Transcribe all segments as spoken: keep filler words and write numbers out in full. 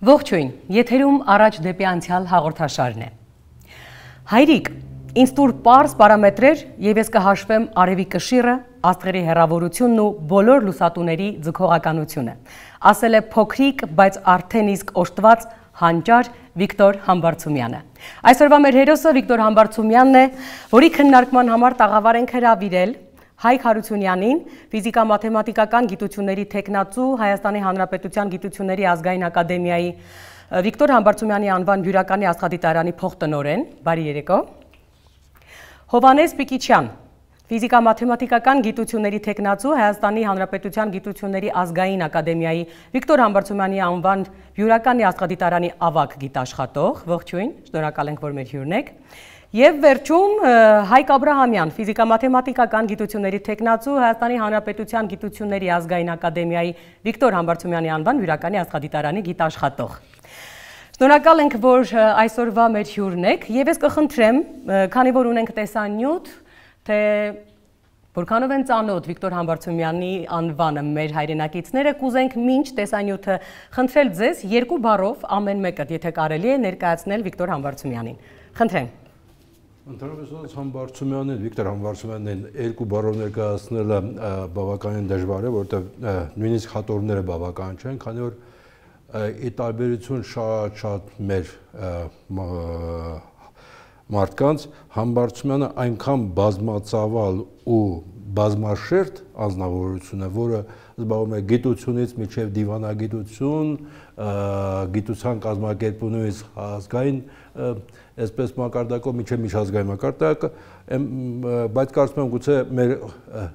Ողջույն, եթերում առաջ դեպի անցյալ հաղորդաշարն է։ Հայրիկ, ինձ տուր պարզ պարամետրեր եւ ես կհաշվեմ արևի կշիռը, աստղերի հեռավորությունն ու բոլոր լուսատուների ձգողականությունը։ Ասել է փոքրիկ, բայց արդեն իսկ օժտված հանճար Վիկտոր Համբարձումյանը։ Այսօրվա մեր հերոսը Վիկտոր Համբարձումյանն է, որի քննարկման համար տաղավար ենք հրավիրել Հայկ Հարությունյանին, ֆիզիկա-մաթեմատիկական գիտությունների թեկնածու, Հայաստանի Հանրապետության Գիտությունների ազգային ակադեմիայի Վիկտոր Համբարձումյանի անվան հյուրականի աստղադիտարանի փոխտնօրեն, բարի երեկո։ Հովհաննես Պիկիչյան, ֆիզիկա-մաթեմատիկական գիտությունների թեկնածու, Հայաստանի Հանրապետության Գիտությունների ազգային ակադեմիայի Վիկտոր Համբարձումյանի անվան հյուրականի աստղադիտարանի ավագ գիտաշխատող, ողջույն, շնորհակալ ենք, որ մեր հյուրն եք։ Եվ վերջում Հայկ Աբրահամյան, ֆիզիկա-մաթեմատիկական գիտությունների թեկնածու, Հայաստանի Հանրապետության Գիտությունների ազգային ակադեմիայի Վիկտոր Համբարձումյանի անվան հյուրականի աստղադիտարանի գիտաշխատող։ Շնորհակալ ենք, որ այսօրվա մեր հյուրն եք, եւ ես կխնդրեմ, քանի որ ունենք տեսանյութ, թե որքանով են ծանոթ Վիկտոր Համբարձումյանի անվանը մեր հայրենակիցները, կուզենք մինչ տեսանյութը խնդրել ձեզ երկու բառով ամեն մեկը, եթե կարելի է, ներկայացնել Վիկտոր Համբարձումյանին։ Խնդրեմ։ Ընդհանրապես Համբարձումյանին, Վիկտոր Համբարձումյանին երկու բառով ներկայացնելը բավականին դժվար է, որովհետև նույնիսկ հատորները բավական չեն, քանի որ ի տարբերություն շատ-շատ մեր մարդկանց Համբարձումյանը այնքան բազմածավալ ու բազմաշերտ անձնավորություն է, որը զբաղվում է գիտությունից մինչև դիվանագիտություն, գիտության կազմակերպումից ազգային, այսպես մակարդակով մինչև միջազգային մակարդակ, բայց կարծում եմ գուցե մեր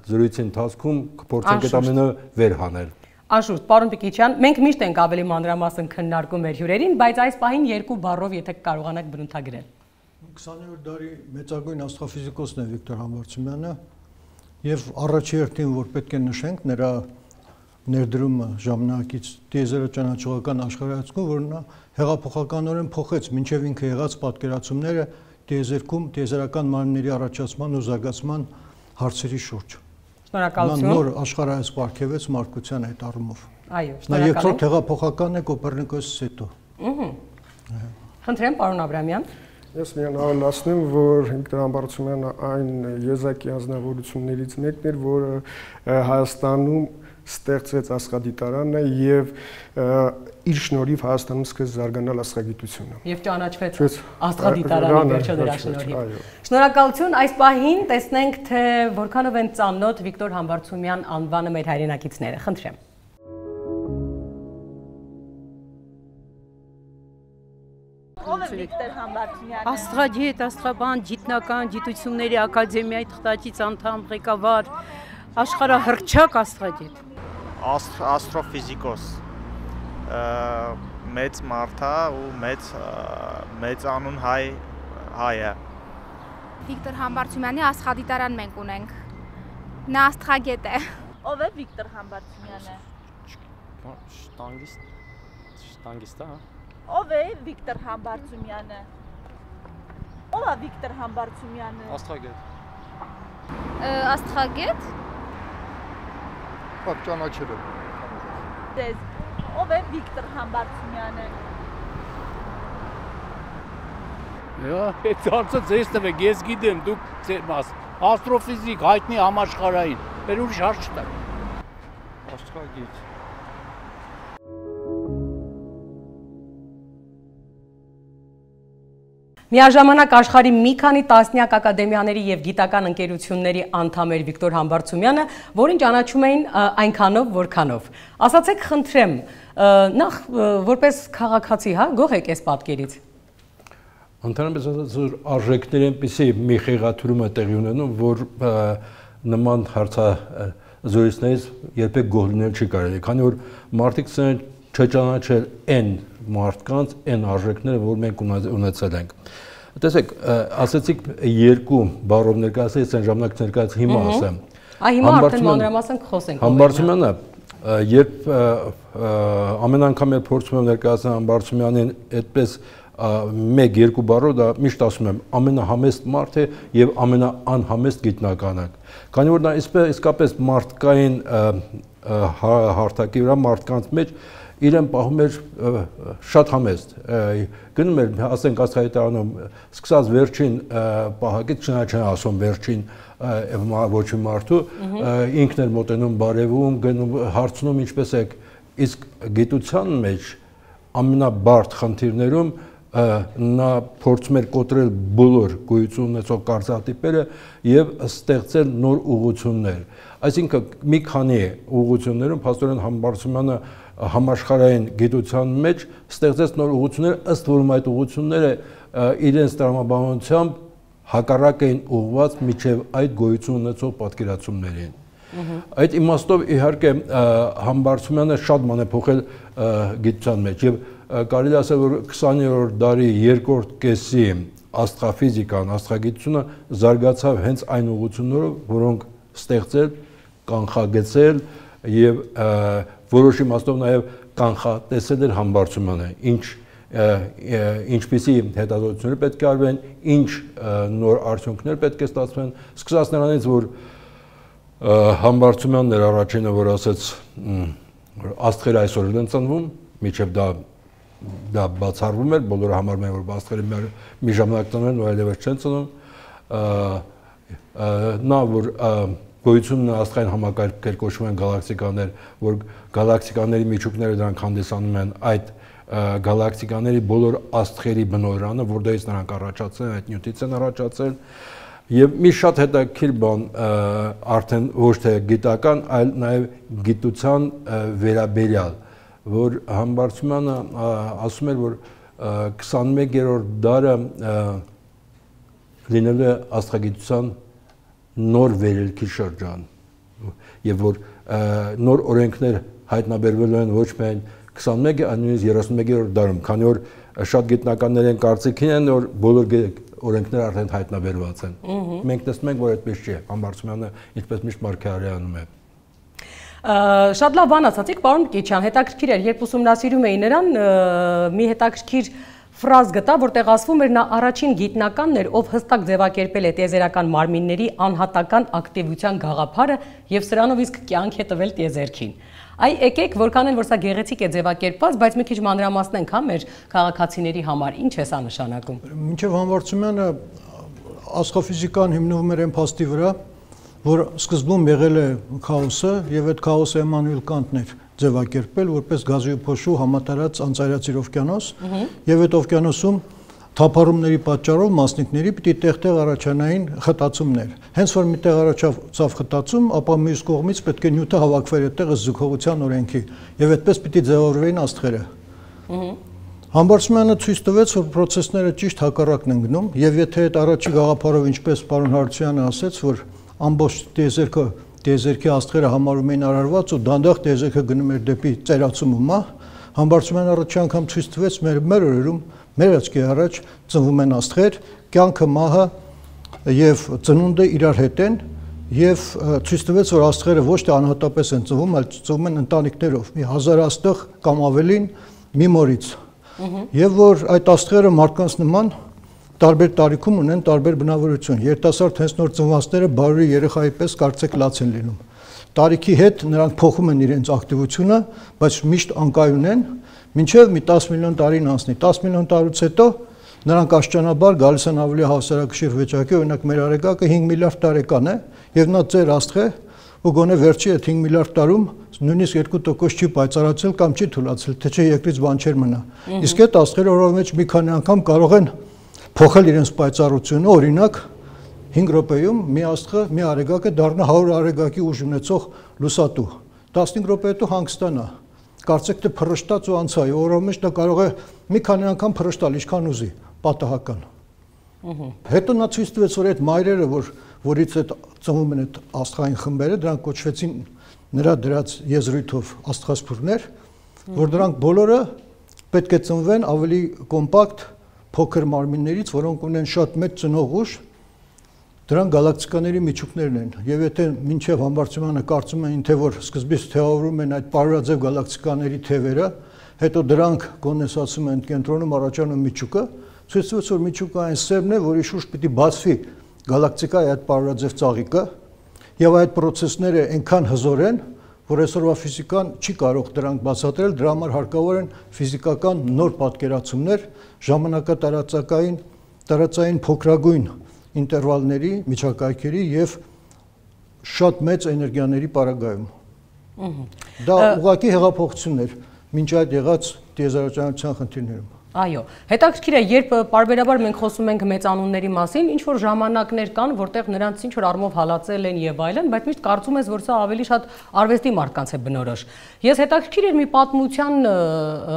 զրույցի ընթացքում կփորձենք այդ ամենը վեր հանել։ Անշուշտ, պարոն Պիկիչյան, մենք միշտ ենք ավելի մանրամասն քննարկում մեր հյուրերին, բայց այս պահին երկու բառով եթե կարողանաք բնութագրել։ քսաներորդ դարի մեծագույն աստղաֆիզիկոսն է Վիկտոր Համբարձումյանը եւ առաջերտին, որ պետք է նշենք, նրա ներդրումը ժամանակից տիեզերը ճանաչողական աշխարհայացքում, որ նա հեղափոխականորեն փոխեց մինչև ինքը եղած պատկերացումները տիեզերքում տիեզերական մարմինների առաջացման ու զարգացման հարցերի շուրջ։ Շնորհակալություն։ Նոր աշխարհայաց պարգևեց մարդկության այդ առումով։ Այո, նա երկրորդ հեղափոխականն է Կոպեռնիկոսից հետո։ Ահա։ Խնդրեմ, պարոն Աբրահամյան։ Ես միայն ավելացնեմ, որ Վիկտոր Համբարձումյանը այն եզակի անձնավորություններից մեկն էր, որը Հայաստանում ստեղծվեց աստղադիտարանը եւ իր շնորհիվ Հայաստանում սկսեց զարգանալ աստղագիտությունը։ Եվ ճանաչվեց աստղադիտարանի վերջը դրա շնորհիվ։ Շնորհակալություն, այս պահին տեսնենք, թե որքանով են ծանոթ Վիկտոր Համբարձումյան անվանը մեր հայրենակիցները։ Խնդրեմ։ Ով է Վիկտոր Համբարձումյանը։ Աստղագետ, աստղաբան, գիտնական, գիտությունների ակադեմիայի թղթակից անդամ, ղեկավար, աշխարհահռչակ աստղագետ։ Աստրոֆիզիկոս, մեծ մարդ է ու մեծ մեծ անուն հայ հայ է։ Վիկտոր Համբարձումյանի աստղադիտարան մենք ունենք։ Նա աստղագետ է։ Ով է Վիկտոր Համբարձումյանը։ Շտանգիստ, շտանգիստ է, հա։ Ով է Վիկտոր Համբարձումյանը։ Ով է Վիկտոր Համբարձումյանը։ Աստղագետ։ Աստղագետ։ Պակ ճանաչել եմ։ Դες, ով է Վիկտոր Համբարձումյանը։ Հա, այդ հարցը ձեզ տվեք, ես գիտեմ, դուք ձեր մաս։ Աստրոֆիզիկ, հայտնի համաշխարհային, բեր ուրիշ հարց չտա։ Աստղագետ։ Միաժամանակ աշխարհի մի քանի տասնյակ ակադեմիաների եւ գիտական ընկերությունների անդամ էր Վիկտոր Համբարձումյանը, որին ճանաչում էին այնքանով, որքանով։ Ասացեք, խնդրեմ, նախ որպես քաղաքացի, հա, գոհ եք այս պատկերից։ Ընդհանրապես ասած, արժեքների այնպիսի մի խեղաթյուրում է տեղի ունենում, որ նման հարցազրույցներից երբեք գոհ լինել չի կարելի, քանի որ մարդիկ ցեն չճանաչել այն մարդկանց, այն արժեքները, որ մենք ունեցել ենք։ Տեսեք, ասացիք երկու բառով ներկայացել, ես այն ժամանակ ներկայացել հիմա ասեմ։ Այ հիմա արդեն մանրամասն խոսենք։ Համբարձումյանը, երբ ամեն անգամ երբ փորձում եմ ներկայացնել Համբարձումյանին այդպես մեկ-երկու բառով դա միշտ ասում եմ ամենահամեստ մարդ է եւ ամենաանհամեստ գիտնականը։ Քանի որ նա իսկապես մարդկային հարթակի վրա մարդկանց մեջ իրեն պահում էր շատ համեստ, գնում էր, ասենք աստղադիտարանում, սկսած վերջին պահակից, չնայած չեն ասում վերջին ոչի մարդու, ինքն էր մոտենում բարևում, գնում հարցնում ինչպես եք, իսկ գիտության մեջ ամենաբարդ խնդիրներում նա փորձում էր կոտրել բոլոր գոյություն ունեցող կարծրատիպերը եւ ստեղծել նոր ուղղություններ։ Այսինքն մի քանի ուղղություններում փաստորեն Համբարձումյանը համաշխարհային գիտության մեջ ստեղծեց նոր ուղղություններ, ըստ որում այդ ուղղությունները իրենց տրամաբանությամբ հակառակ էին ուղղված միջև այդ գոյություն ունեցող պատկերացումներին։ Այդ իմաստով իհարկե Համբարձումյանը շատ բան է փոխել գիտության մեջ եւ կարելի ասել որ քսաներորդ դարի երկրորդ կեսի աստղաֆիզիկան, աստղագիտությունը զարգացավ հենց այն ուղղություններով, որոնք ստեղծել, կանխագծել եւ որոշ իմաստով նաեւ կանխատեսել էր Համբարձումյանը, ինչ ինչպիսի հետազոտություններ պետք է արվեն, ինչ նոր արդյունքներ պետք է ստացվեն, սկսած նրանից որ Համբարձումյանն էր առաջինը, որ ասեց աստղերը այսօր են ծնվում, միջև դա դա բացառվում էր, բոլորը համարում են, որ աստղերը մի ժամանակ ծնվում են, այլևս չեն ծնվում, նա որ գոյությունն աստղային համակարգեր կոչվում են գալակտիկաներ, որ գալակտիկաների միջուկները դրանք հանդիսանում են այդ գալակտիկաների բոլոր աստղերի բնօրրանը, որտեղից նրանք առաջացել են, այդ նյութից են առաջացել, եւ մի շատ հետաքրքիր բան արդեն ոչ թե գիտական, այլ նաեւ գիտության վերաբերյալ, որ Համբարձումյանը ասում էր, որ քսանմեկերորդ դարը լինելու է աստղագիտության նոր վերելքի շրջան եւ որ նոր օրենքներ հայտնաբերվելու են ոչ միայն քսանմեկ, այլ նույնիսկ երեսունմեկերորդ դարում, քանի որ շատ գիտնականներ են կարծիքին են, որ բոլոր օրենքները արդեն հայտնաբերված են։ Մենք տեսնում ենք, որ այդպես չի, Համբարձումյանը ինչպես միշտ Մարգարյանում է։ Շատ լավ բան ասացիք, պարոն Կիչյան, հետաքրքիր էր, երբ ուսումնասիրում էի նրան, մի հետաքրքիր ֆրազ գտա, որտեղ ասվում էր նա առաջին գիտնականն էր, ով հստակ ձևակերպել է տիեզերական մարմինների անհատական ակտիվության գաղափարը եւ սրանով իսկ կյանք է տվել տիեզերքին։ Այ եկեք, որքան էլ որ սա գեղեցիկ է ձևակերպված, բայց մի քիչ մանրամասնենք հա մեր քաղաքացիների համար, ինչ է սա նշանակում։ Մինչև Համբարձումյանը աստղաֆիզիկան հիմնվում էր այն փաստի վրա, որ սկզբում եղել է քաոսը եւ այդ քաոսը Էմանուել Կանտն էր ձևակերպել որպես գազի ու փոշու համատարած անծայրածիր օվկիանոս եւ այդ օվկիանոսում թափառումների պատճառով մասնիկների պիտի տեղ-տեղ առաջանային խտացումներ։ Հենց որ միտեղ առաջացավ խտացում, ապա մյուս կողմից պետք է նյութը հավաքվեր այդտեղ զուգողության օրենքի եւ այդպես պիտի ձևավորվեին աստղերը։ Համբարձումյանը ցույց տվեց, որ process-ները ճիշտ հակառակն են գնում եւ եթե այդ առաջի գաղափարով ինչպես պարոն Հարությունյանը ասեց, որ ամբողջ տիեզերքը տիեզերքի աստղերը համարում էին արարված ու դանդաղ տիեզերքը գնում էր դեպի ծերացումը, Համբարձումյանը առաջի անգամ ցույց տվեց մեր մեր օրերում մեր աչքի առաջ ծնվում են աստղեր, կյանքը, մահը եւ ծնունդը իրար հետ են եւ ցույց տվեց, որ աստղերը ոչ թե անհատապես են ծնվում, այլ ծնվում են ընտանիքներով, մի հազար աստղ կամ ավելին մի մորից։ Եվ որ այդ աստղերը մարդկանց նման տարբեր տարիքում ունեն տարբեր բնավորություն։ Երիտասարդ հենց նոր ծնվածները բարի երեխայի պես կարծեք լաց են լինում։ Տարիքի հետ նրանք փոխում են իրենց ակտիվությունը, բայց միշտ անկայուն են, մինչև մի տասը միլիոն տարին անցնի։ տասը միլիոն տարուց հետո նրանք աստիճանաբար գալիս են ավելի հավասարակշիռ վիճակի, օրինակ մեր արեգակը հինգ միլիարդ տարեկան է, եւ նա ծեր աստղ է, ու գոնե վերջի այդ հինգ միլիարդ տարում նույնիսկ երկու տոկոս չի պայծառացել կամ չի թուլացել, թե չէ երկրից բան չէր մնա։ Իսկ այդ աստղերը օրվա մեջ մի քանի անգամ կարող են փոխել իրենց պայծառությունը, օրինակ հինգ րոպեում մի աստղը, մի արեգակը դառնա հարյուր արեգակի ուժ ունեցող լուսատու։ տասնհինգ րոպե հետո հանգստանա։ Կարծեք թե փռշտաց ու անցա, օրվա մեջ դա կարող է մի քանի անգամ փռշտալ, ինչքան ուզի, պատահական։ Հետո նա ցույց տվեց, որ այդ մայրերը, որ որից այդ ծնվում են այդ աստղային խմբերը, դրանք կոչվեցին նրա դրած եզրույթով աստղասփուրներ, որ դրանք բոլորը պետք է ծնվեն ավելի կոմպակտ փոքր մարմիններից, որոնք ունեն շատ մեծ ծնող ուժ, դրանք գալակտիկաների միջուկներն են։ Եվ եթե մինչև Համբարձումյանը կարծում էին, թե որ սկզբից թեավորում են այդ պարուրաձև գալակտիկաների թևերը, հետո դրանք կոնդենսացում են կենտրոնում առաջանում միջուկը, ցույց տվեց, որ միջուկը այն սերմն է, որի շուրջ պիտի բացվի գալակտիկայի այդ պարորաձև ծաղիկը, եւ այդ process-ները այնքան հզոր են, որ այսօրվա ֆիզիկան չի կարող դրանք բացատրել, դրա համար հարկավոր են ֆիզիկական նոր պատկերացումներ ժամանակատարածային տարածային փոքրագույն ինտերվալների, միջակայքերի եւ շատ մեծ էներգիաների պարագայում։ Դա ուղղակի հեղափոխություններ մինչ այդ եղած տիեզերականության խնդիրներում։ Այո, հետաքրքիր է, երբ պարբերաբար մենք խոսում ենք մեծանունների մասին, ինչ որ ժամանակներ կան, որտեղ նրանց ինչ որ առումով հալածել են եւ այլն, բայց միշտ կարծում ես, որ սա ավելի շատ արվեստի մարդկանց է բնորոշ։ Ես հետաքրքիր էր մի պատմության,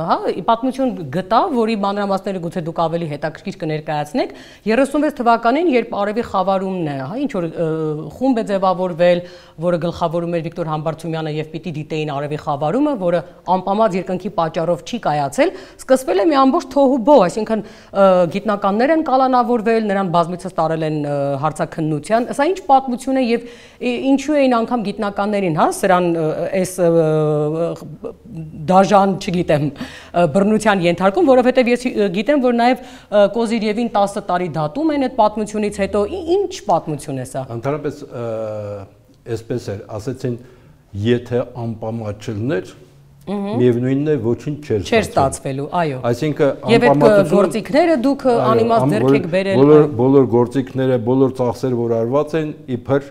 հա, պատմություն գտա, որի մանրամասները գուցե դուք ավելի հետաքրքիր կներկայացնեք, երեսունվեց թվականին, երբ Արևի խավարումն է, հա, ինչ որ խումբ է ձևավորվել, որը գլխավորում էր Վիկտոր Համբարձումյանը եւ պիտի դիտեին Արևի խավարումը, որը անպամած երկնքի պատճառով չի կայացել, սկսվել է մի ամբողջ թոհուբո, այսինքն գիտնականներ են կալանավորվել, նրան բազմիցս տարել են հարցաքննության, սա ինչ պատմություն է եւ ինչու էին անգամ գիտնականներին, հա, սրան այս դաժան, չգիտեմ, բռնության ենթարկում, որովհետեւ ես գիտեմ, որ նաեւ Կոզիրևին տասը տարի դատում են այդ պատմությունից հետո, ինչ պատմություն է սա։ Ընդհանրապես այսպես էր, ասեցին, եթե անպամատ չլներ, միևնույնն է ոչինչ չէր չէր ստացվելու, այո։ Այսինքն եւ այդ գործիքները դուք անիմաստ ձեռք եք բերել։ Բոլոր բոլոր գործիքները, բոլոր ծախսերը, որ արված են, իբր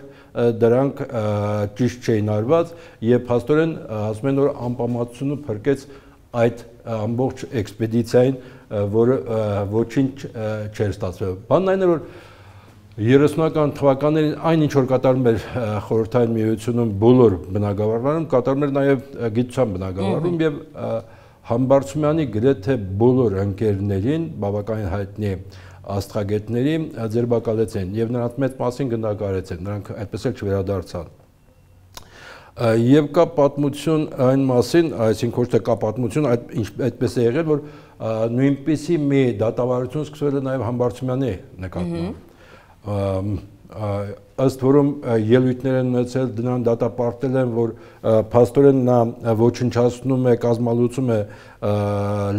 դրանք ճիշտ չէին արված, եւ փաստորեն ասում են, որ անպամատությունը փրկեց այդ ամբողջ էքսպեդիցիային, որը ոչինչ չէր ստացվել։ Բանն այն է, որ երեսունական թվականներին այն ինչ որ կատարում էր խորհրդային միությունում բոլոր բնակավարներում, կատարում էր նաև գիտության բնակավարում եւ Համբարձումյանի գրեթե բոլոր ընկերներին, բավականին հայտնի աստղագետների ձերբակալեցին եւ նրանց մեծ մասին գնդակարեցին, նրանք այդպես էլ չվերադարձան։ Եվ կա պատմություն այն մասին, այսինքն ոչ թե կա պատմություն, այդպես է եղել, որ նույնպիսի մի դատավարություն սկսվել է նաև Համբարձումյանի նկատմամբ։ Ըստ որում ելույթներ են ունեցել, դրան դատապարտել են, որ փաստորեն նա ոչնչացնում է, կազմալուծում է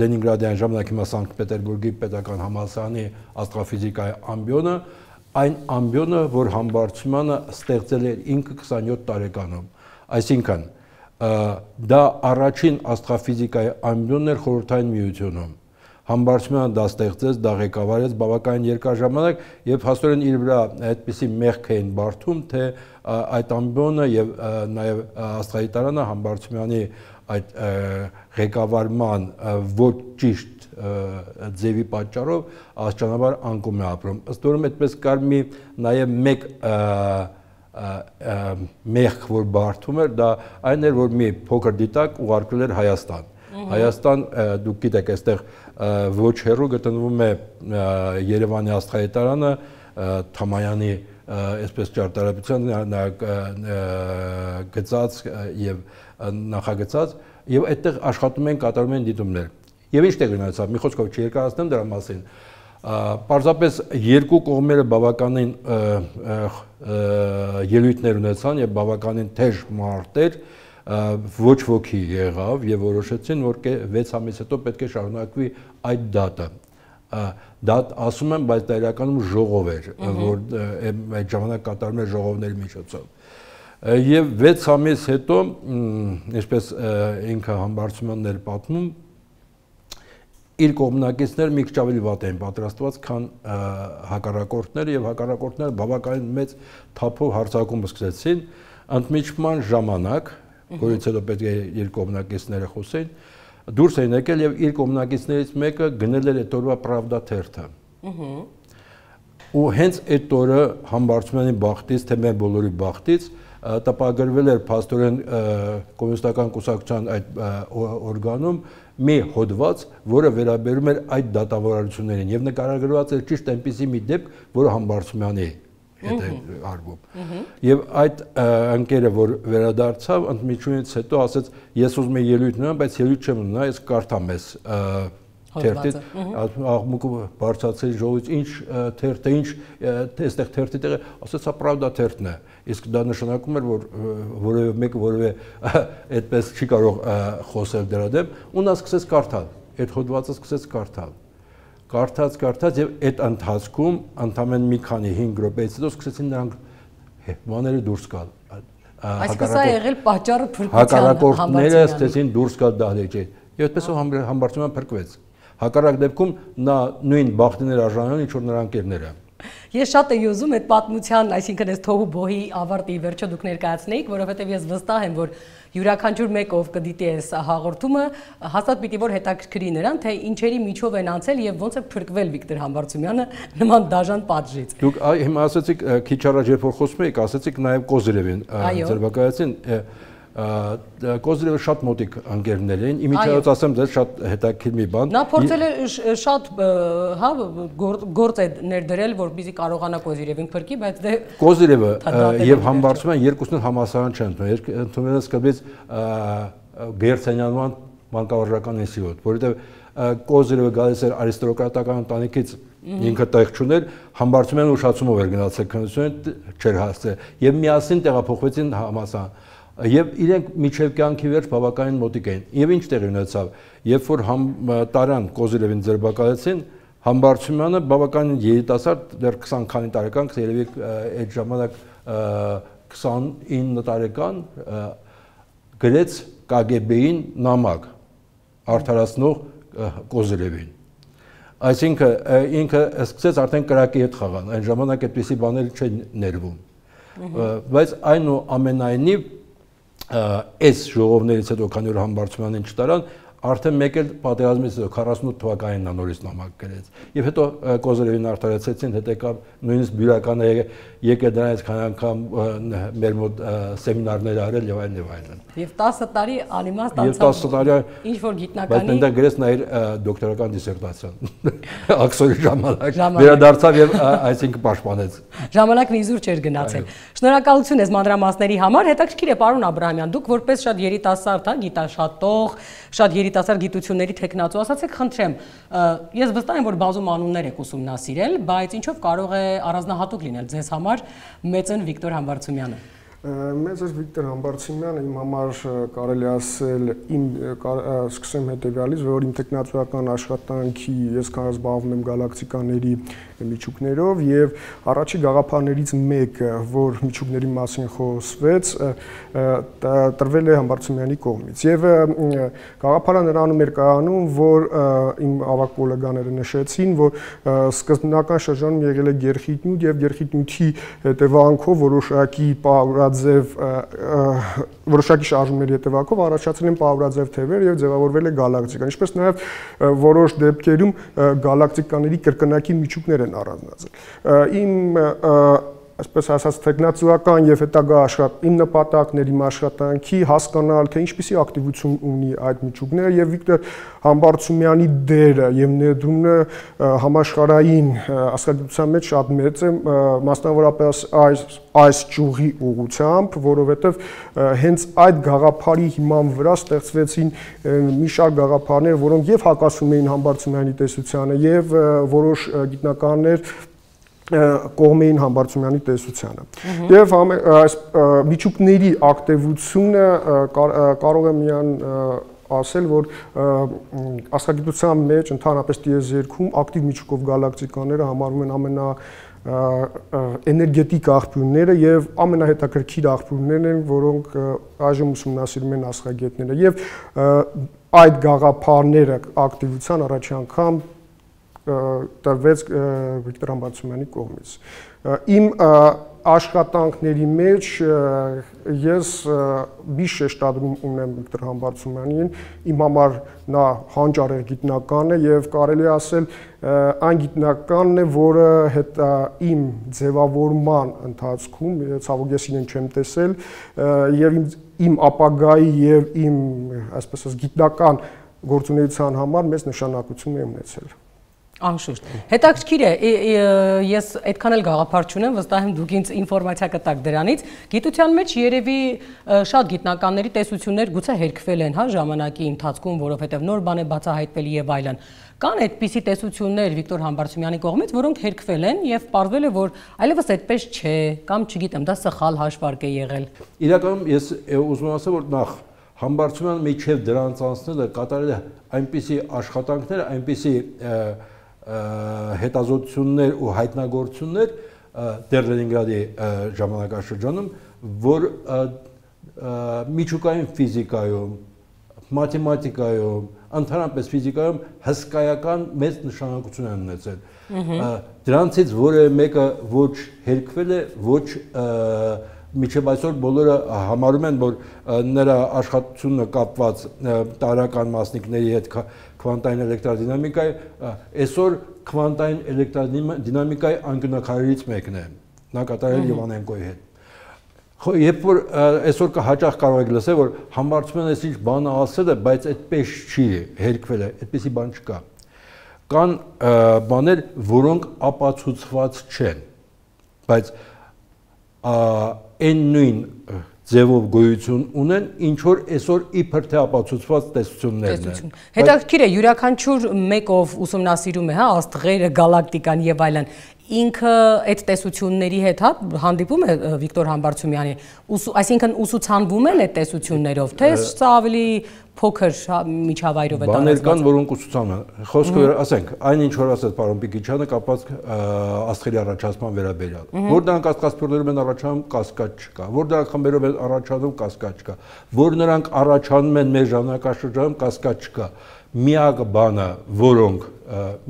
Լենինգրադյան ժամանակ հիմա Սանկտ Պետերբուրգի պետական համալսարանի աստղաֆիզիկայի ամբիոնը, այն ամբիոնը, որ Համբարձումյանը ստեղծել էր ինքը քսանյոթ տարեկանում։ Այսինքն դա առաջին աստղաֆիզիկայի ամբիոնն էր խորհրդային միությունում։ Համբարձումյանը դա ստեղծեց, դա ղեկավարեց բավականին երկար ժամանակ եւ հաստորեն իր վրա այդպիսի մեղք էին բարդում, թե այդ ամբիոնը եւ նաեւ աստղադիտարանը Համբարձումյանի այդ ղեկավարման ոչ ճիշտ ձևի պատճառով աստիճանաբար անկում է ապրում։ Ըստ որում այդպես կար մի նաեւ մեկ մեղք, որ բարդում էր, դա այն էր, որ մի փոքր դիտակ ուղարկվել էր Հայաստան։ Հայաստան, դուք գիտեք, այստեղ ոչ հեռու գտնվում է Երևանի աստղադիտարանը, Թամայանի այսպես ճարտարապետության գծած եւ նախագծած եւ այդտեղ աշխատում են, կատարում են դիտումներ։ Եվ ինչ տեղ ունեցավ, մի խոսքով չերկարացնեմ դրա մասին։ Պարզապես երկու կողմերը բավականին ելույթներ ունեցան եւ բավականին թեժ մարտեր, ոչ ոքի եղավ եւ որոշեցին, որ վեց ամիս հետո պետք է շարունակվի այդ դատը։ Դա ասում եմ, բայց դա իրականում ժողով էր, որ այդ ժամանակ կատարում էր ժողովների միջոցով։ Եվ վեց ամիս հետո, ինչպես ինքը Համբարձումյանն էր պատմում, իր կողմնակիցները մի քիչ ավելի վատ էին պատրաստված, քան հակառակորդները եւ հակառակորդները բավականին մեծ թափով հարձակում սկսեցին, ընդմիջման ժամանակ, որից հետո պետք է իր կողմնակիցները խոսեին, դուրս էին եկել եւ իր կողմնակիցներից մեկը գնել էր այդ օրվա Pravda թերթը։ Ու հենց այդ օրը Համբարձումյանի բախտից, թե մեր բոլորի բախտից, տպագրվել էր փաստորեն կոմունիստական կուսակցության այդ օրգանում մի հոդված, որը վերաբերում էր այդ դատավարություններին եւ նկարագրված էր ճիշտ այնպիսի մի դեպք, որը Համբարձումյանի հետ է արվում։ Եվ այդ ընկերը, որ վերադարձավ, ընդմիջումից հետո ասեց, ես ուզում եմ ելույթ ունենամ, բայց ելույթ չեմ ունենա, ես կարդամ ես թերթից, աղմուկը բարձրացել ժողովից ինչ թերթը, ինչ այստեղ թերթի տեղը, ասեց սա Pravda թերթն է, իսկ դա նշանակում էր, որ որևէ մեկը որևէ այդպես չի կարող խոսել դրա դեմ, ու նա սկսեց կարդալ, այդ հոդվածը սկսեց կարդալ, կարդաց, կարդաց եւ այդ ընթացքում ընդամենը մի քանի հինգ րոպեից հետո սկսեցին նրանք բաները դուրս գալ։ Այսինքն սա եղել պատճառը փրկության հակառակորդները սկսեցին դուրս գալ դահլիճից։ Եվ այդպես Համբարձումյանը փրկվեց։ Հակառակ դեպքում նա նույն բախտիներ արժանանում, ինչ որ նրա ընկերները։ Ես շատ եմ ուզում այդ պատմության, այսինքն այս թողու բոհի ավարտի վերջը դուք ներկայացնեիք, որովհետև ես վստահ եմ, որ յուրաքանչյուր մեկը ով կդիտի այս հաղորդումը, հաստատ պիտի որ հետաքրքրի նրան, թե ինչերի միջով են անցել եւ ոնց է փրկվել Վիկտոր Համբարձումյանը նման դաժան պատժից։ Դուք հիմա ասացիք քիչ առաջ երբ որ խոսում եք, ասացիք նաեւ Կոզիրևին ձերբակայեցին, Կոզիրևը շատ մոտիկ ընկերներ էին, իմիջիայից ասեմ ձեզ շատ հետաքրքիր մի բան։ Նա փորձել է շատ հա գործ է ներդրել, որպեսզի կարողանա Կոզիրևին փրկի, բայց դե Կոզիրևը եւ Համբարձումյանը երկուսն էլ համասարան չեն ընդունել, ընդունել են սկզբից Գերցենյանման մանկավարժական ինստիտուտ, որովհետեւ Կոզիրևը գալիս էր արիստոկրատական ընտանիքից, ինքը տեղ չուներ, Համբարձումյանը ուշացումով էր գնացել քննությունը չէր հասցրել եւ միասին տեղափոխվեցին համասարան։ Եվ իրենք միջև կյանքի վերջ բավականին մոտիկ էին։ Եվ ինչ տեղի ունեցավ, երբ որ տարան Կոզիրևին ձերբակալեցին, Համբարձումյանը բավականին երիտասարդ, դեռ քսան քանի տարեկան, երևի այդ ժամանակ քսանինը տարեկան, գրեց Կ Գ B-ին նամակ արդարացնող Կոզիրևին։ Այսինքն ինքը սկսեց արդեն կրակի հետ խաղալ, այն ժամանակ այդպիսի բաներ չեն ներվում։ Բայց այնուամենայնիվ այս ժողովներից հետո, քանի որ Համբարձումյանին չտարան, արդեն մեկ էլ պատերազմից հետո քառասունութ թվականին նա նորից նամակ գրեց։ Եվ հետո Կոզիրևին արդարացրեցին, հետո եկավ նույնիսկ բյուրականը եկել դրանից քանի անգամ մեր մոտ սեմինարներ արել եւ այլն եւ այլն։ Եվ տասը տարի անիմաստ անցավ։ Եվ տասը տարի ինչ որ գիտնականի։ Բայց այնտեղ գրեց նա իր դոկտորական դիսերտացիան Աքսորի ժամանակ։ Վերադարձավ եւ այսինքն պաշտպանեց։ Ժամանակն իզուր չէր գնացել։ Շնորհակալություն ես մանրամասների համար, հետաքրքիր է պարոն Աբրահամյան, դուք որպես շատ երիտասարդ, հա, գիտաշատող, շատ երիտասարդ գիտությունների թեկնածու, ասացեք, խնդրեմ, ես վստահ եմ, որ բազում անուններ եք ուսումնասիրել, բայց ինչով կարող է առանձնահատուկ լինել ձեզ համար մեծն Վիկտոր Համբարձումյանը։ Մեծ էր Վիկտոր Համբարձումյանը իմ համար կարելի ասել իմ սկսեմ հետևյալից, որ իմ տեխնացուական աշխատանքի ես կարող զբաղվում եմ գալակտիկաների միջուկներով եւ առաջի գաղափարներից մեկը, որ միջուկների մասին խոսվեց, տրվել է Համբարձումյանի կողմից եւ գաղափարը նրանում էր կայանում, որ իմ ավագ գոլեգաները նշեցին, որ սկզբնական շրջանում եղել է գերխիտնյութ եւ գերխիտնյութի հետևանքով որոշակի Ձև որոշակի շարժումների հետևանքով առաջացել են պարուրաձև թևեր եւ ձևավորվել է գալակտիկա, ինչպես նաեւ որոշ դեպքերում գալակտիկաների կրկնակի միջուկներ են առանձնացել։ Իմ այսպես ասած տեխնացուական եւ հետագա աշխատ իմ նպատակներ, իմ աշխատանքի հասկանալ, թե ինչպիսի ակտիվություն ունի այդ միջուկները եւ Վիկտոր Համբարձումյանի դերը եւ ներդրումն համաշխարհային աստղագիտության մեջ շատ մեծ է, մասնավորապես այս այս ճյուղի ուղղությամբ, որովհետեւ հենց այդ գաղափարի հիման վրա ստեղծվեցին մի շարք գաղափարներ, որոնք եւ հակասում էին Համբարձումյանի տեսությանը եւ որոշ գիտնականներ կողմեին Համբարձումյանի տեսությանը։ Եվ այս միջուկների ակտիվությունը կարող է միան ասել, որ աստղագիտության մեջ ընդհանրապես տիեզերքում ակտիվ միջուկով գալակտիկաները համարվում են ամենա էներգետիկ աղբյուրները եւ ամենահետաքրքիր աղբյուրներն են, որոնք այժմ ուսումնասիրում են աստղագետները եւ այդ գաղափարները ակտիվության առաջի անգամ տրվեց Վիկտոր Համբարձումյանի կողմից։ Իմ աշխատանքների մեջ ես մի շեշտադրում ունեմ Վիկտոր Համբարձումյանին, իմ համար նա հանճարեղ գիտնական է եւ կարելի ասել այն գիտնականն է, որը հետ իմ ձևավորման ընթացքում, ցավոք ես իրեն չեմ տեսել, եւ իմ ապագայի եւ իմ այսպես ասած գիտնական գործունեության համար մեծ նշանակություն է ունեցել։ Անշուշտ։ Հետաքրքիր է, ես այդքան էլ գաղափար չունեմ, վստահ եմ դուք ինձ ինֆորմացիա կտաք դրանից։ Գիտության մեջ երևի շատ գիտնականների տեսություններ գուցե հերքվել են, հա, ժամանակի ընթացքում, որովհետև նոր բան է բացահայտվել եւ այլն։ Կան այդպիսի տեսություններ Վիկտոր Համբարձումյանի կողմից, որոնք հերքվել են եւ պարզվել է, որ այլևս այդպես չէ, կամ չգիտեմ, դա սխալ հաշվարկ է եղել։ Իրականում ես ուզում եմ ասել, որ նախ Համբարձումյանը միջև դրանց անցնելը կատարել է այնպիսի աշխատանքներ, այնպիսի հետազոտություններ ու հայտնագործություններ դեռ Լենինգրադի ժամանակաշրջանում, որ միջուկային ֆիզիկայում, մաթեմատիկայում, ընդհանրապես ֆիզիկայում հսկայական մեծ նշանակություն են ունեցել։ Դրանցից որևէ մեկը ոչ հերքվել է, ոչ միջև այսօր բոլորը համարում են, որ նրա աշխատությունը կապված տարրական մասնիկների հետ քվանտային էլեկտրադինամիկայի, այսօր քվանտային էլեկտրադինամիկայի անկյունաքարերից մեկն է, նա կատարել ԵՒանենկոյի հետ։ Երբ որ այսօր հաճախ կարող եք լսել, որ Համբարձումյանը այս ինչ բանը ասել է, բայց այդպես չի հերքվել է, այդպիսի բան չկա։ Կան բաներ, որոնք ապացուցված չեն, բայց այն նույն ձևով գոյություն ունեն, ինչ որ այսօր իբր թե ապացուցված տեսություններն են։ Հետաքրքիր է, յուրաքանչյուր մեկով ուսումնասիրում է, հա, աստղերը, գալակտիկան եւ այլն, ինքը այդ տեսությունների հետ, հա, հանդիպում է Վիկտոր Համբարձումյանի, այսինքն ուսուցանվում են այդ տեսություններով, թե սա ավելի փոքր միջավայրով է տարածված։ Բաներ կան, որոնք ուսուցանում են։ Խոսքը ասենք, այն ինչ որ ասեց պարոն Պիկիչյանը կապված աստղերի առաջացման վերաբերյալ։ Որ դրանք աստղասփյուռներում են առաջանում, կասկած չկա։ Որ դրանք խմբերով են առաջանում, կասկած չկա։ Որ նրանք առաջանում են մեր ժամանակաշրջանում, կասկած չկա։ Միակ բանը, որոնք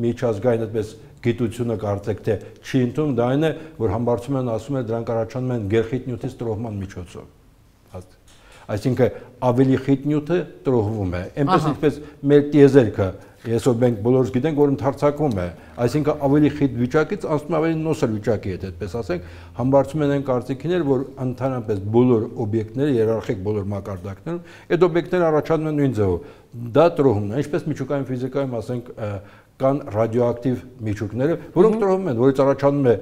միջազգային այդպես գիտությունը կարծեք թե չի ընդունում, դա այն է, որ Համբարձումյանը ասում է, դրանք առաջանում են գերխիտ նյութից տրոհման միջոցով։ Այսինքն ավելի խիտ նյութը տրոհվում է։ Այնպես ինչպես մեր տիեզերքը, այսօր մենք բոլորս գիտենք, որ ընդարձակվում է, այսինքն ավելի խիտ վիճակից անցնում ավելի նոսր վիճակի հետ, այդպես ասենք, Համբարձումյանը այն կարծիքին էր, որ ընդհանրապես բոլոր օբյեկտները, երարխիկ բոլոր մակարդակներում, այդ օբյեկտները առաջանում են նույն ձևով։ Դա տրոհումն է, ինչպես միջուկային ֆիզիկայում, ասենք, կան ռադիոակտիվ միջուկները, որոնք տրոհում են, որից առաջանում է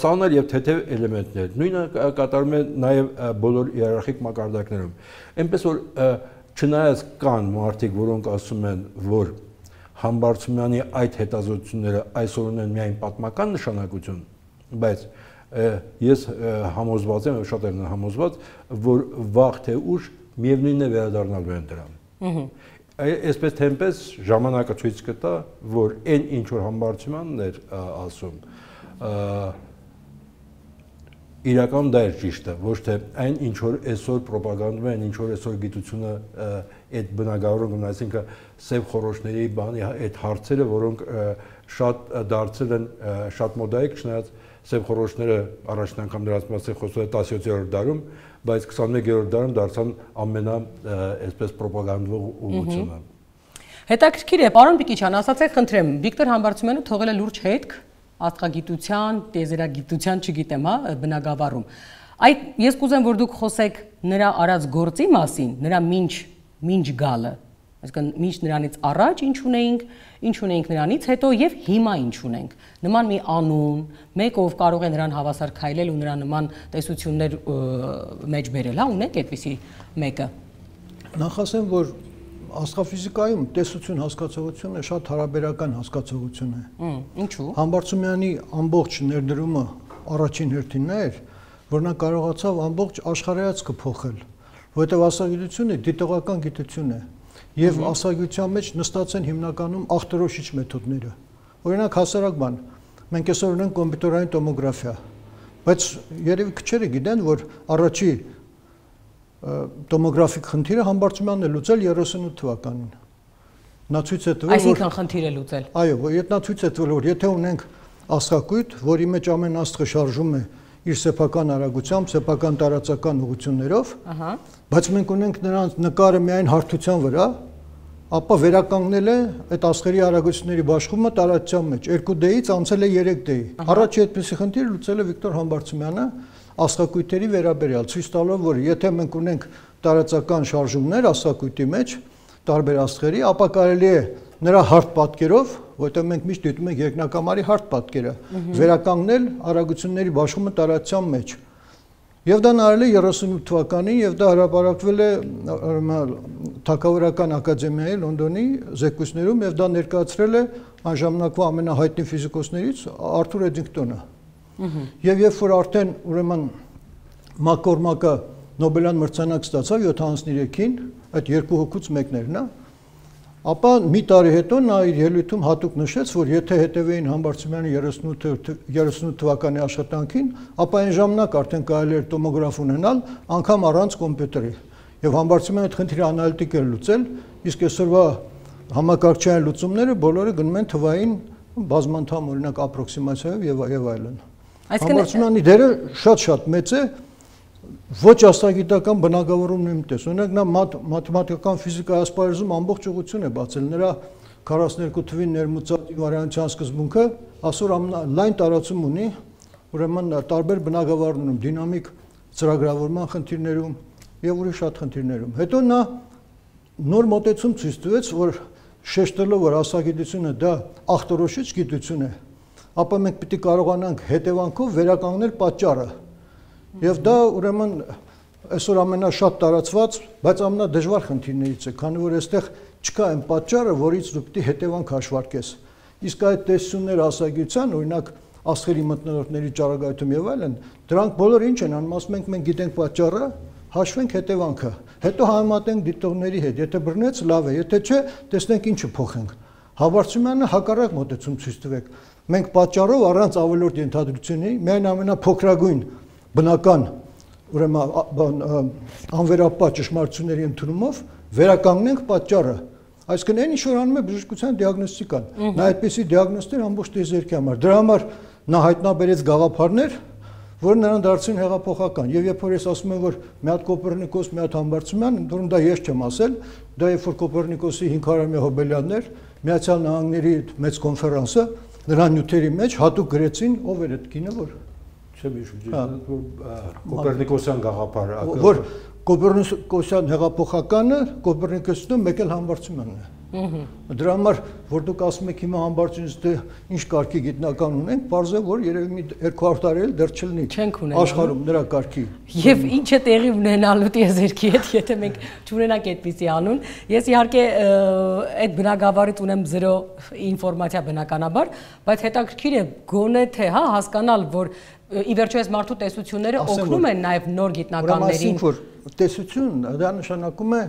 ծանր եւ թեթև էլեմենտներ։ Նույնը կատարում է նաեւ բոլոր իերարխիկ մակարդակներում։ Այնպես որ չնայած կան մարդիկ, որոնք ասում են, որ Համբարձումյանի այդ հետազոտությունները այսօր ունեն միայն պատմական նշանակություն, բայց ես համոզված եմ, շատերն են համոզված, որ վաղ թե ուշ միևնույնն է վերադառնալու են դրան։ Այսպես թե այնպես ժամանակը ցույց կտա, որ այն ինչ որ Համբարձումյանն էր ասում, իրականում դա էր ճիշտը, ոչ թե այն ինչ որ այսօր ռոպագանդում են, ինչ որ այսօր գիտությունը այդ բնագավառում, այսինքն սև խորոշների բանի այդ հարցերը, որոնք շատ դարձել են շատ մոդայիկ, չնայած սև խորոշները առաջին անգամ դրանց մասին խոսել է տասնյոթերորդ դարում, բայց քսաներկերորդ դարում դարձան ամենա այսպես ռոպագանդվող ուղղությունը։ Հետաքրքիր է, պարոն Պիկիչյան, ասացեք, խնդրեմ, Վիկտոր Համբարձումյանը թողել է լուրջ հետք աստղագիտության, տիեզերագիտության, չգիտեմ, հա, բնագավառում։ Այդ ես կուզեմ, որ դուք խոսեք նրա արած գործի մասին, նրա մինչ մինչ գալը, այսինքն մինչ նրանից առաջ ինչ ունեինք, ինչ ունեինք նրանից հետո եւ հիմա ինչ ունենք։ Նման մի անուն, մեկ ով կարող է նրան հավասար քայլել ու նրա նման տեսություններ մեջ բերել, հա, ունենք այդպիսի մեկը։ Նախ ասեմ, որ աստղաֆիզիկայում տեսություն հասկացողությունը շատ հարաբերական հասկացողություն է։ Ինչու՞։ Համբարձումյանի ամբողջ ներդրումը առաջին հերթին էր, որ նա կարողացավ ամբողջ աշխարհայացքը փոխել, որովհետև աստղագիտությունը դիտողական գիտություն է, եւ աստղագիտության մեջ նստած են հիմնականում ախտորոշիչ մեթոդները։ Օրինակ հասարակ բան, մենք այսօր ունենք կոմպյուտերային տոմոգրաֆիա, բայց երևի քչերը գիտեն, որ առաջի տոմոգրաֆիկ խնդիրը Համբարձումյանն է լուծել երեսունութ թվականին։ Նա ցույց է տվել, որ այսինքն խնդիր է լուծել։ Այո, որ նա ցույց է տվել, որ եթե ունենք աստղակույտ, որի մեջ ամեն աստղը շարժում է իր սեփական արագությամբ, սեփական տարածական ուղղություններով, բայց մենք ունենք նրանց նկարը միայն հարթության վրա, ապա վերականգնել է այդ աստղերի արագությունների բաշխումը տարածության մեջ երկու դեից անցել է երեք դեի։ Առաջի այդպիսի խնդիր լուծել է Վիկտոր Համբարձումյանը աստղակույտերի վերաբերյալ, ցույց տալով, որ եթե մենք ունենք տարածական շարժումներ աստղակույտի մեջ տարբեր աստղերի, ապա կարելի է նրա հարթ պատկերով, որտեղ մենք միշտ դիտում ենք երկնակամարի հարթ պատկերը, վերականգնել արագությունների բաշխումը տարածության մեջ։ Եվ դա արել է երեսունութ թվականին, եւ դա հրապարակվել է Թագավորական ակադեմիայի Լոնդոնի զեկույցներում, եւ դա ներկայացրել է այն ժամանակվա ամենահայտնի ֆիզիկոսներից Արթուր Էդինգտոնը։ Եվ երբ որ արդեն ուրեմն Մակկորմակը Նոբելյան մրցանակ ստացավ յոթանասներեքին, այդ երկու հոգուց մեկն էր նա, ապա մի տարի հետո նա իր ելույթում հատուկ նշեց, որ եթե հետևեին Համբարձումյանի երեսունութ թվականի աշխատանքին, ապա այն ժամանակ արդեն կարելի էր տոմոգրաֆ ունենալ անգամ առանց կոմպյուտերի։ Եվ Համբարձումյանը այդ խնդիրը անալիտիկ էր լուծել, իսկ այսօրվա համակարգչային լուծումները բոլորը գնում են թվային բազմանդամ օրինակ ապրոքսիմացիայով եւ եւ այլն։ Համբարձումյանի դերը շատ-շատ մեծ է ոչ աստղագիտական բնագավառումն եմ տես։ Օրինակ նա մաթեմատիկական ֆիզիկայի ասպարեզում ամբողջ ուղղություն է բացել նրա քառասուներկու թվին ներմուծած ինվարիանտության սկզբունքը այսօր լայն տարածում ունի, ուրեմն տարբեր բնագավառներում, դինամիկ ծրագրավորման խնդիրներում եւ ուրիշ շատ խնդիրներում։ Հետո նա նոր մոտեցում ցույց տվեց, որ շեշտելով որ աստղագիտությունը դա ախտորոշիչ գիտություն է, ապա մենք պիտի կարողանանք հետևանքով վերականգնել պատճառը։ Եվ դա ուրեմն այսօր ամենաշատ տարածված, բայց ամենադժվար խնդիրներից է, քանի որ այստեղ չկա այն պատճառը, որից դու պիտի հետևանք հաշվարկես։ Իսկ այդ տեսությունները աստղագիտության, օրինակ աստղերի մթնոլորտների ճառագայթում եւ այլն, դրանք բոլորը ինչ են անում, ասում ենք մենք գիտենք պատճառը, հաշվենք հետևանքը, հետո համեմատենք դիտողների հետ, եթե բռնեց լավ է, եթե չէ, տեսնենք ինչը փոխենք։ Համբարձումյանը հակառակ մոտեցում ցույց տվեք։ Մենք պատճառով առանց ավելորդ ենթադրությունների, միայն ամենափոքրագույն բնական ուրեմն անվերապահ ճշմարտությունների ընդունումով վերականգնենք պատճառը։ Այսինքն այն ինչ որ անում է բժշկության դիագնոստիկան, նա այդպիսի դիագնոստներ ամբողջ տիեզերքի համար։ Դրա համար նա հայտնաբերեց գաղափարներ, որ նրան դարձին հեղափոխական։ Եվ երբ որ ես ասում եմ, որ մի հատ Կոպեռնիկոս, մի հատ Համբարձումյան, ընդհանուր դա ես չեմ ասել, դա երբ որ Կոպեռնիկոսի հինգ հարյուրամյա հոբելյաններ Միացյալ Նահանգների մեծ կոնֆերանսը նրա նյութերի մեջ հատուկ գրեցին, ով էր այդ կինը, որ չեմ հիշում, Կոպեռնիկոսյան գաղափարը, որ Կոպեռնիկոսյան հեղափոխականը Կոպեռնիկոսն մեկ էլ Համբարձումյանն է։ Դրա համար, որ դուք ասում եք հիմա Համբարձումյանից ինչ կարգի գիտնական ունենք, պարզ է, որ երևի մի երկու հարյուր տարի էլ դեռ չլինի աշխարհում նրա կարգի։ Եվ ինչ է տեղի ունենալու տիեզերքի հետ, եթե մենք չունենանք այդպիսի անուն։ Ես իհարկե այդ բնագավառից ունեմ զրո ինֆորմացիա բնականաբար, բայց հետաքրքիր է գոնե թե հա հասկանալ, որ ի վերջո այս մարդու տեսությունները օգնում են նաև նոր գիտնականներին։ Որ տեսություն դա նշանակում է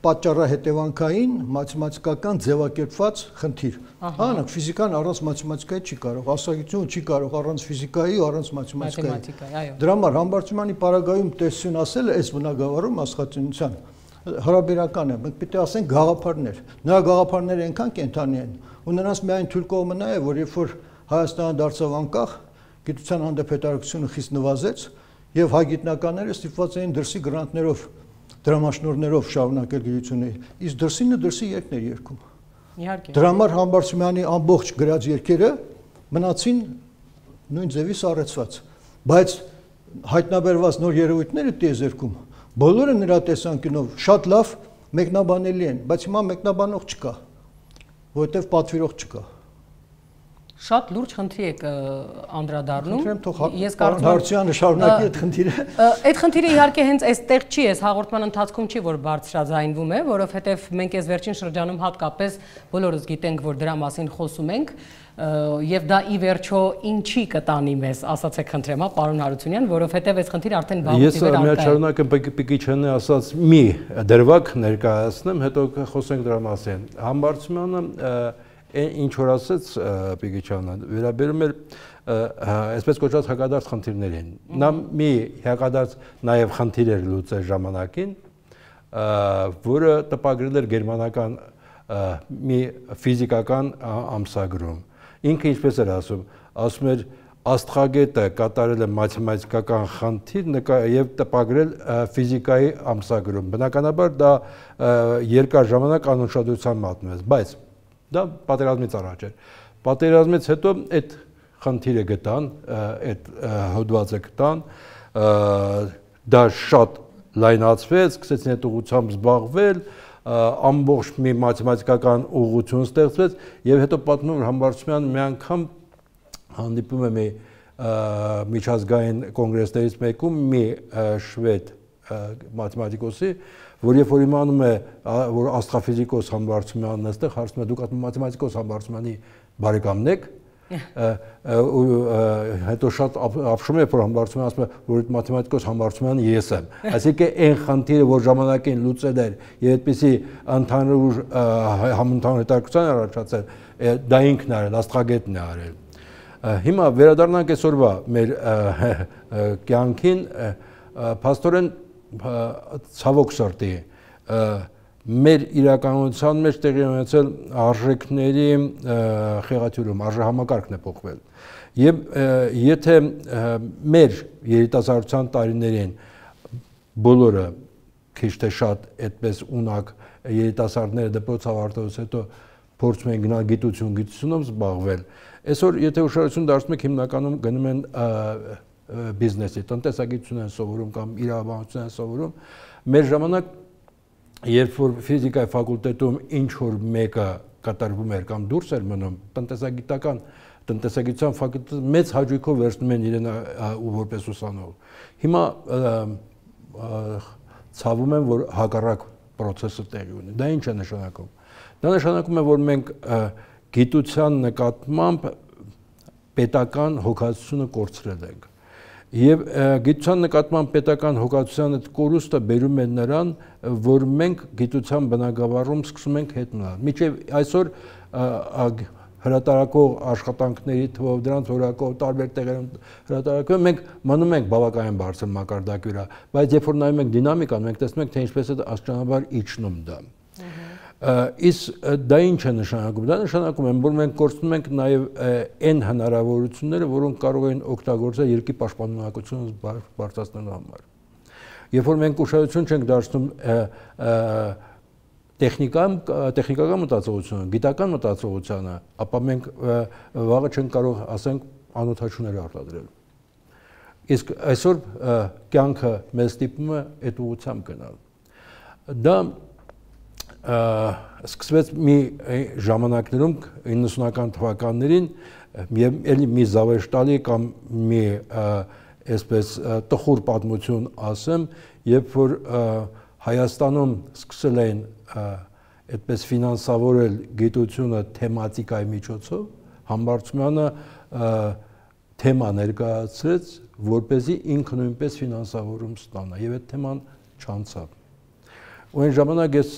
պատճառահետևանքային մաթեմատիկական ձևակերպված խնդիր։ Անակ ֆիզիկան առանց մաթեմատիկայի չի կարող, աստղագիտությունը չի կարող առանց ֆիզիկայի, առանց մաթեմատիկայի։ Դրա համար Համբարձումյանի պարագայում տեսություն ասելը այս բնագավառում աստղածնության հարաբերական է։ Մենք պիտի ասենք գաղափարներ։ Նրա գաղափարները այնքան կենթանի են, ու նրանց միայն թույլ կողմը նա է, որ երբ որ Հայաստանը դարձավ անկախ, գիտության հանդեպ հետաքրքրությունը խիստ նվազեց եւ հայ գիտնականները ստիպված էին դրսի գրանտներով, դրամաշնորհներով շարունակել գիտությունը, իսկ դրսինը դրսի երկներ երկում։ Իհարկե։ Դրա համար Համբարձումյանի ամբողջ գրած երկերը մնացին նույն ձևի սառեցված, բայց հայտնաբերված նոր երևույթները տիեզերքում բոլորը նրա տեսանկյունով շատ լավ մեկնաբանելի են, բայց հիմա մեկնաբանող չկա, որովհետեւ պատվիրող չկա։ Շատ լուրջ խնդրի եք անդրադառնում։ Ես կարծում եմ Հարությունյանը շարունակի այդ խնդիրը։ Այդ խնդիրը իհարկե հենց այստեղ չի, այս հաղորդման ընթացքում չի, որ բարձրաձայնվում է, որովհետև մենք այս վերջին շրջանում հատկապես բոլորս գիտենք, որ դրա մասին խոսում ենք, եւ դա ի վերջո ինչի կտանի մեզ, ասացեք խնդրեմ, հա, պարոն Հարությունյան, որովհետև այս խնդիրը արդեն վաղուց իվեր արկա է։ Ես միաժամանակ Պիկիչյանի ասած մի դրվագ ներկայացնեմ, հետո խոսենք դրա մասին։ Համբարձումյանը ինչ որ ասեց Պիկիչյանը, վերաբերում էր այսպես կոչված հակադարձ խնդիրներին։ Նա մի հակադարձ նաև խնդիր էր լուծել ժամանակին, որը տպագրել էր գերմանական մի ֆիզիկական ամսագրում։ Ինքը ինչպես էր ասում, ասում էր աստղագետը կատարել է մաթեմատիկական խնդիր եւ տպագրել ֆիզիկայի ամսագրում։ Բնականաբար դա երկար ժամանակ անուշադրության մատնվեց, բայց դա պատերազմից առաջ էր։ Պատերազմից հետո այդ խնդիրը գտան, այդ հոդվածը գտան, դա շատ լայնացվեց, սկսեցին այդ ուղղությամբ զբաղվել, ամբողջ մի մաթեմատիկական ուղղություն ստեղծվեց եւ հետո պատմում որ Համբարձումյանը մի անգամ հանդիպում է մի միջազգային կոնգրեսներից մեկում մի շվեդ մաթեմատիկոսի, որ երբ որ իմանում է, որ աստղաֆիզիկոս Համբարձումյանն է այստեղ, հարցնում է դուք մաթեմատիկոս Համբարձումյանի բարեկամն եք, հետո շատ ապշում է, որ Համբարձումյանը ասում է, որ այդ մաթեմատիկոս Համբարձումյանը ես եմ։ Այսինքն այն խնդիրը, որ ժամանակին լուծել էր եւ այդպիսի ընդհանուր համընդհանուր հետաքրքրության առաջացել, դա ինքն է արել, աստղագետն է արել։ Հիմա վերադառնանք այսօրվա մեր կյանքին, փաստորեն ցավոք սրտի մեր իրականության մեջ տեղի ունեցել արժեքների խեղաթյուրում, արժեհամակարգն է փոխվել։ Եվ եթե մեր երիտասարդության տարիներին բոլորը քիչ թե շատ այդպես ունակ երիտասարդները դպրոց ավարտելուց հետո փորձում են գնալ գիտություն, գիտությունով զբաղվել, այսօր եթե ուշադրություն դարձնում եք հիմնականում գնում են բիզնեսի, տնտեսագիտություն են սովորում կամ իրավաբանություն են սովորում, մեր ժամանակ երբ որ ֆիզիկայի ֆակուլտետում ինչ որ մեկը կատարվում էր կամ դուրս էր մնում, տնտեսագիտական տնտեսագիտության ֆակուլտետը մեծ հաճույքով վերցնում են իրեն որպես ուսանող։ Հիմա ցավում եմ, որ հակառակ process-ը տեղի ունի։ Դա ինչ է նշանակում։ Դա նշանակում է, որ մենք գիտության նկատմամբ պետական հոգացությունը կորցրել ենք։ Եվ գիտության նկատմամբ պետական հոգացության այդ կորուստը բերում է նրան, որ մենք գիտության բնագավառում սկսում ենք հետ մնալ։ Մինչև այսօր հրատարակող աշխատանքների թվով, դրանց որակով տարբեր տեղերում հրատարակվում, մենք մնում ենք բավականին բարձր մակարդակի վրա, բայց երբ որ նայում ենք դինամիկան, մենք տեսնում ենք, թե ինչպես է աստիճանաբար իջնում դա։ Իսկ դա ինչ է նշանակում։ Դա նշանակում է, որ մենք կորցնում ենք նաև այն հնարավորությունները, որոնք կարող են օգտագործել երկրի պաշտպանունակությունը բարձրացնելու համար։ Երբ որ մենք ուշադրություն չենք դարձնում տեխնիկական տեխնիկական մտածողությունը, գիտական մտածողությանը, ապա մենք վաղը չենք կարող, ասենք, անօթաչուներ արտադրել։ Իսկ այսօր կյանքը մեզ ստիպում է այդ ուղղությամբ գնալ։ Դա սկսվեց մի ժամանակներում իննսունական թվականներին եւ էլի մի զավեշտալի կամ մի այսպես տխուր պատմություն ասեմ, երբ որ Հայաստանում սկսել էին այդպես ֆինանսավորել գիտությունը թեմատիկայի միջոցով, Համբարձումյանը թեմա ներկայացրեց, որպեսզի ինքը նույնպես ֆինանսավորում ստանա եւ այդ թեման չանցավ։ Ու այն ժամանակ ես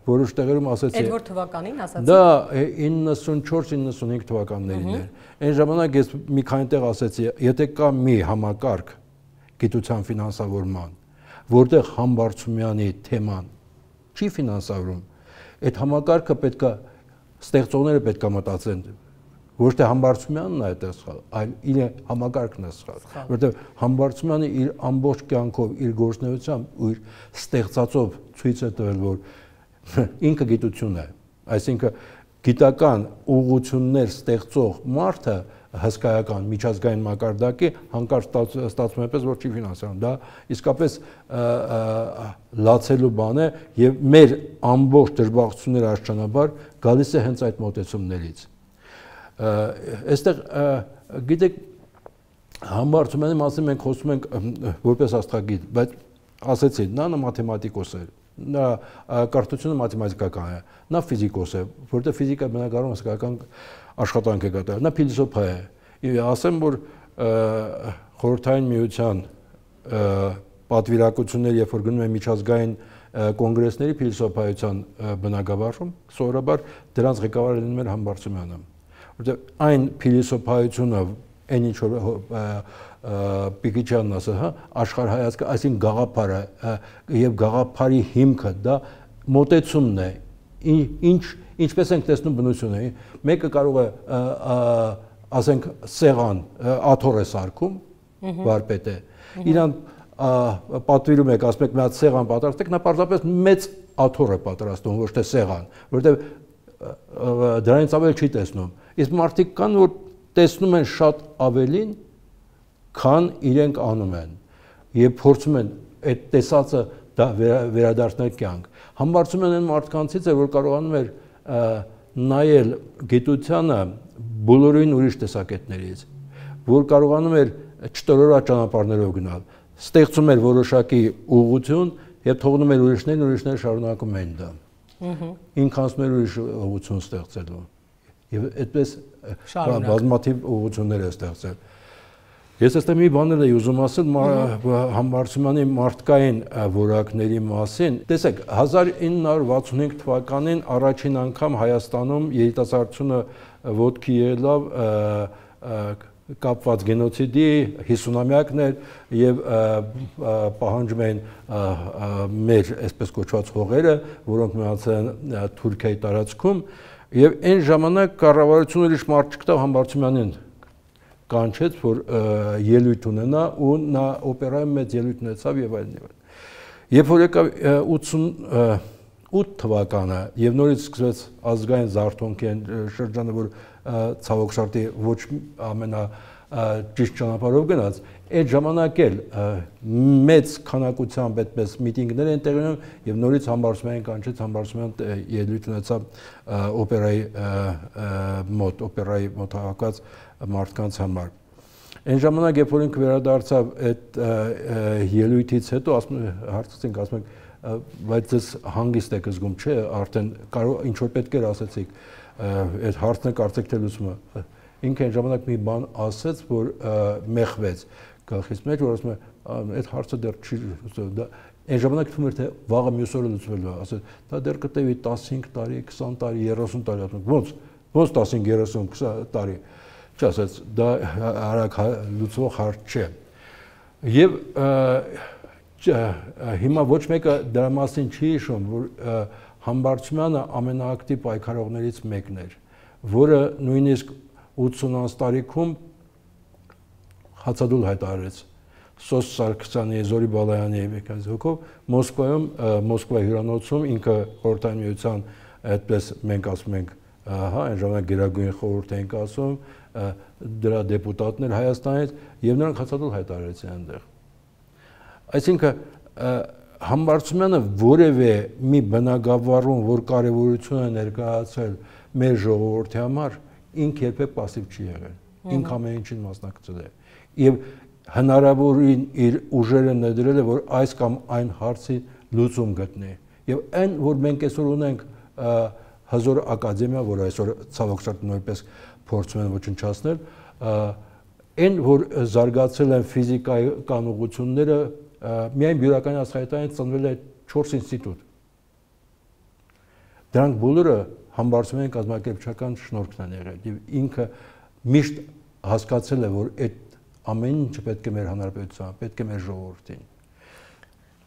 որոշ տեղերում ասացի։ Այդ որ թվականին ասացի։ Դա իննսունչորս իննսունհինգ թվականներին էր։ Այն ժամանակ ես մի քանի տեղ ասացի, եթե կա մի համակարգ գիտության ֆինանսավորման, որտեղ Համբարձումյանի թեման չի ֆինանսավորում, այդ համակարգը պետք է ստեղծողները պետք է մտածեն, ոչ թե Համբարձումյանն է այդտեղ սխալ, այլ իր համակարգն է սխալ, որտեղ Համբարձումյանը իր ամբողջ կյանքով, իր գործունեությամբ ու իր ստեղծածով ցույց է տվել, որ ինքը գիտություն է, այսինքն գիտական ուղղություններ ստեղծող մարդը հսկայական միջազգային մակարդակի հանկարծ ստացվում է պես, որ չի ֆինանսավորում։ Դա իսկապես լացելու բան է եւ մեր ամբողջ դժբախտությունները աստիճանաբար գալիս է հենց այդ մոտեցումներից։ Այստեղ գիտեք Համբարձումյանի մասին մենք խոսում ենք որպես աստղագիտ, բայց ասեցի, նա մաթեմատիկոս է, նա կրթությունը մաթեմատիկական է, նա ֆիզիկոս է, որտեղ ֆիզիկա բնագավառում հսկայական աշխատանք է կատարել, նա փիլիսոփա է։ Ասեմ, որ Խորհրդային Միության պատվիրակությունները, երբ որ գնում են միջազգային կոնգրեսների փիլիսոփայության բնագավառում, սովորաբար դրանց ղեկավարը լինում էր Համբարձումյանը, որտեղ այն փիլիսոփայությունը, այն ինչ որ Պիկիչյանն ասել, հա, աշխարհայացքը, այսինքն գաղափարը եւ գաղափարի հիմքը դա մոտեցումն է, ինչ ինչպես ենք տեսնում բնությունը, մեկը կարող է ասենք սեղան աթոռ է սարքում, վարպետ է, իրան պատվիրում եք, ասում եք մի հատ սեղան պատրաստեք, նա պարզապես մեծ աթոռ է պատրաստում, ոչ թե սեղան, որովհետեւ դրանից ավել չի տեսնում։ Իսկ մարդիկ կան, որ տեսնում են շատ ավելին, քան իրենք անում են, եւ փորձում են այդ տեսածը դա վերադարձնել կյանք։ Համբարձումն այն մարդկանցից է, որ կարողանում էր նայել գիտությանը բոլորին ուրիշ տեսակետներից, որ կարողանում էր չտորորած ճանապարհներով գնալ, ստեղծում էր որոշակի ուղղություն եւ թողնում էր ուրիշներին, ուրիշները շարունակում էին դա։ Ինքանցում էր ուրիշ ուղղություն ստեղծելու։ Եվ այդպես բազմաթիվ ուղղություններ է ստեղծել։ Ես այստեղ մի բաներ էի ուզում ասել Համբարձումյանի մարդկային որակների մասին։ Տեսեք, հազար ինը հարյուր վաթսունհինգ թվականին առաջին անգամ Հայաստանում երիտասարդությունը ոտքի ելավ կապված գենոցիդի հիսունամյակն էր եւ պահանջում էին մեր այսպես կոչված հողերը, որոնք մնացել են Թուրքիայի տարածքում, եւ այն ժամանակ կառավարությունը ուրիշ մարդ չկտավ Համբարձումյանին կանչեց, որ ելույթ ունենա ու նա օպերայում մեծ ելույթ ունեցավ եւ այլն եւ այլն։ Երբ որ եկավ ութ թվականը եւ նորից սկսվեց ազգային զարթոնքի շրջանը, որ ցավոք սրտի ոչ ամենա ճիշտ ճանապարհով գնաց, այդ ժամանակ էլ մեծ քանակությամբ այդպես միտինգներ են տեղի ունենում եւ նորից Համբարձումյանին կանչեց, Համբարձումյան ելույթ ունեցավ օպերայի մոտ, օպերայի մոտ հավաքված մարդկանց համար։ Այն ժամանակ, երբ որ ինքը վերադարձավ այդ ելույթից հետո, հարցրեցինք, ասում եք, բայց ես հանգիստ եք զգում, չէ, արդեն ինչ որ պետք էր ասեցիք, այդ հարցն է կարծեք թե լուծումը։ Ինքը այն ժամանակ մի բան ասեց, որ մեղվեց գլխից մեջ, որ ասում է, այդ հարցը դեռ չի լուծվել։ Այն ժամանակ թվում էր թե վաղը մյուս օրը լուծվելու է, ասել, դա դեռ կտևի տասնհինգ տարի, քսան տարի, երեսուն տարի, ասում ոնց, ոնց տասնհինգ, երեսուն, քսան տարի։ Չասեց, դա արագ լուծվող հարց չէ։ Եվ հիմա ոչ մեկը դրա մասին չի հիշում, որ Համբարձումյանը ամենաակտիվ պայքարողներից մեկն էր, որը նույնիսկ ութսուն տարիքում հացադուլ հայտարարեց Սոս Սարգսյանի, Զորի Բալայանի հոգով Մոսկվայում, Մոսկվա հյուրանոցում ինքը Խորհրդային Միության այդպես մենք ասում ենք, հա, այն ժամանակ Գերագույն խորհուրդ ենք ասում, դրա դեպուտատներ Հայաստանից եւ նրանք հացադուլ հայտարարեցին այնտեղ։ Այսինքն Համբարձումյանը որևէ մի բնագավառում, որ կարևորություն է ներկայացել մեր ժողովրդի համար, ինքը երբեք пассив չի եղել։ Ինքը ամեն ինչին մասնակցել է։ Եվ հնարավորին իր ուժերը ներդրել է, որ այս կամ այն հարցի լուծում գտնի։ Եվ այն, որ մենք այսօր ունենք հզոր ակադեմիա, որ այսօր ցավոք սրտի նույնպես փորձում են ոչնչացնել, այն, որ զարգացել են ֆիզիկական ուղղությունները, միայն բյուրականի աշխարհային ծնվել է չորս ինստիտուտ։ Դրանք բոլորը Համբարձումյանի կազմակերպչական շնորհքն են եղել եւ ինքը միշտ հասկացել է, որ այդ ամեն ինչը պետք է մեր հանրապետությանը, պետք է մեր ժողովրդին։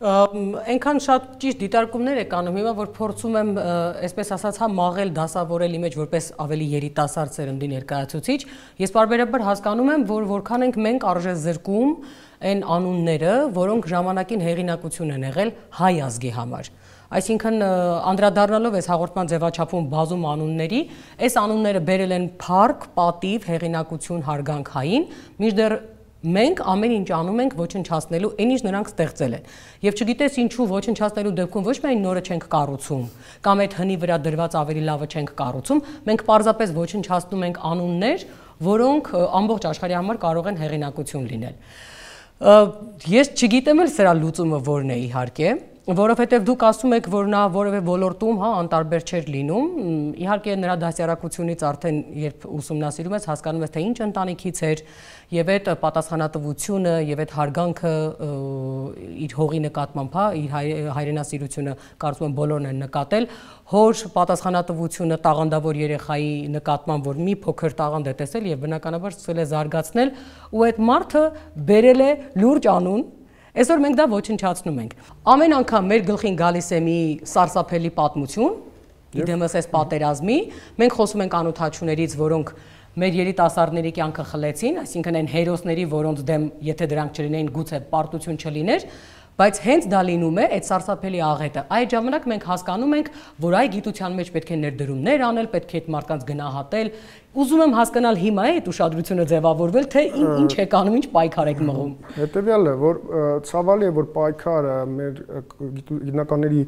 Այնքան շատ ճիշտ դիտարկումներ եք անում հիմա, որ փորձում եմ, այսպես ասած, հա մաղել դասավորել իմեջ որպես ավելի երիտասարդ սերնդի ներկայացուցիչ, ես բարբերաբար հասկանում եմ, որ որքան ենք մենք արժե զրկում այն անունները, որոնք ժամանակին հեղինակություն են եղել հայ ազգի համար։ Այսինքն անդրադառնալով այս հաղորդման ձևաչափում բազում անունների, այս անունները բերել են փառք, պատիվ, հեղինակություն, հարգանք հային, մինչդեռ մենք ամեն ինչ անում ենք ոչնչացնելու այն ինչ նրանք ստեղծել են։ Եվ չգիտես ինչու ոչնչացնելու դեպքում ոչ միայն նորը չենք կառուցում, կամ այդ հնի վրա դրված ավելի լավը չենք կառուցում, մենք պարզապես ոչնչացնում ենք անուններ, որոնք ամբողջ աշխարհի համար կարող են հեղինակություն լինել։ Ես չգիտեմ էլ սրա լուծումը որն է իհարկե, որովհետև դուք ասում եք, որ նա որևէ ոլորտում, հա, անտարբեր չէր լինում, իհարկե նրա դասյարակությունից արդեն երբ ուսումնասիրում ես, հասկանում ես, թե ինչ ընտանիքից էր, եւ այդ պատասխանատվությունը եւ այդ հարգանքը իր հողի նկատմամբ, հա, իր հայրենասիրությունը կարծում եմ բոլորն են նկատել, հոր պատասխանատվությունը տաղանդավոր երեխայի նկատմամբ, որ մի փոքր տաղանդ է տեսել եւ բնականաբար սկսել է զարգացնել, ու այդ մարդը բերել է լուրջ անուն։ Այսօր մենք դա ոչնչացնում ենք։ Ամեն անգամ մեր գլխին գալիս է մի սարսափելի պատմություն, իդեմս այս պատերազմի, մենք խոսում ենք անօթաչուներից, որոնք մեր երիտասարդների կյանքը խլեցին, այսինքն այն հերոսների, որոնց դեմ եթե դրանք չլինեին, գուցե պարտություն չլիներ, Բայց հենց դա լինում է այդ սարսափելի աղետը։ Այդ ժամանակ մենք հասկանում ենք, որ այ գիտության մեջ պետք է ներդրումներ անել, պետք է այդ մարդկանց գնահատել։ Ուզում եմ հասկանալ հիմա է այդ ուշադրությունը ձևավորվել, թե ինչ եք անում, ինչ պայքար եք մղում։ Հետևյալն է, որ ցավալի է, որ պայքարը մեր գիտնականների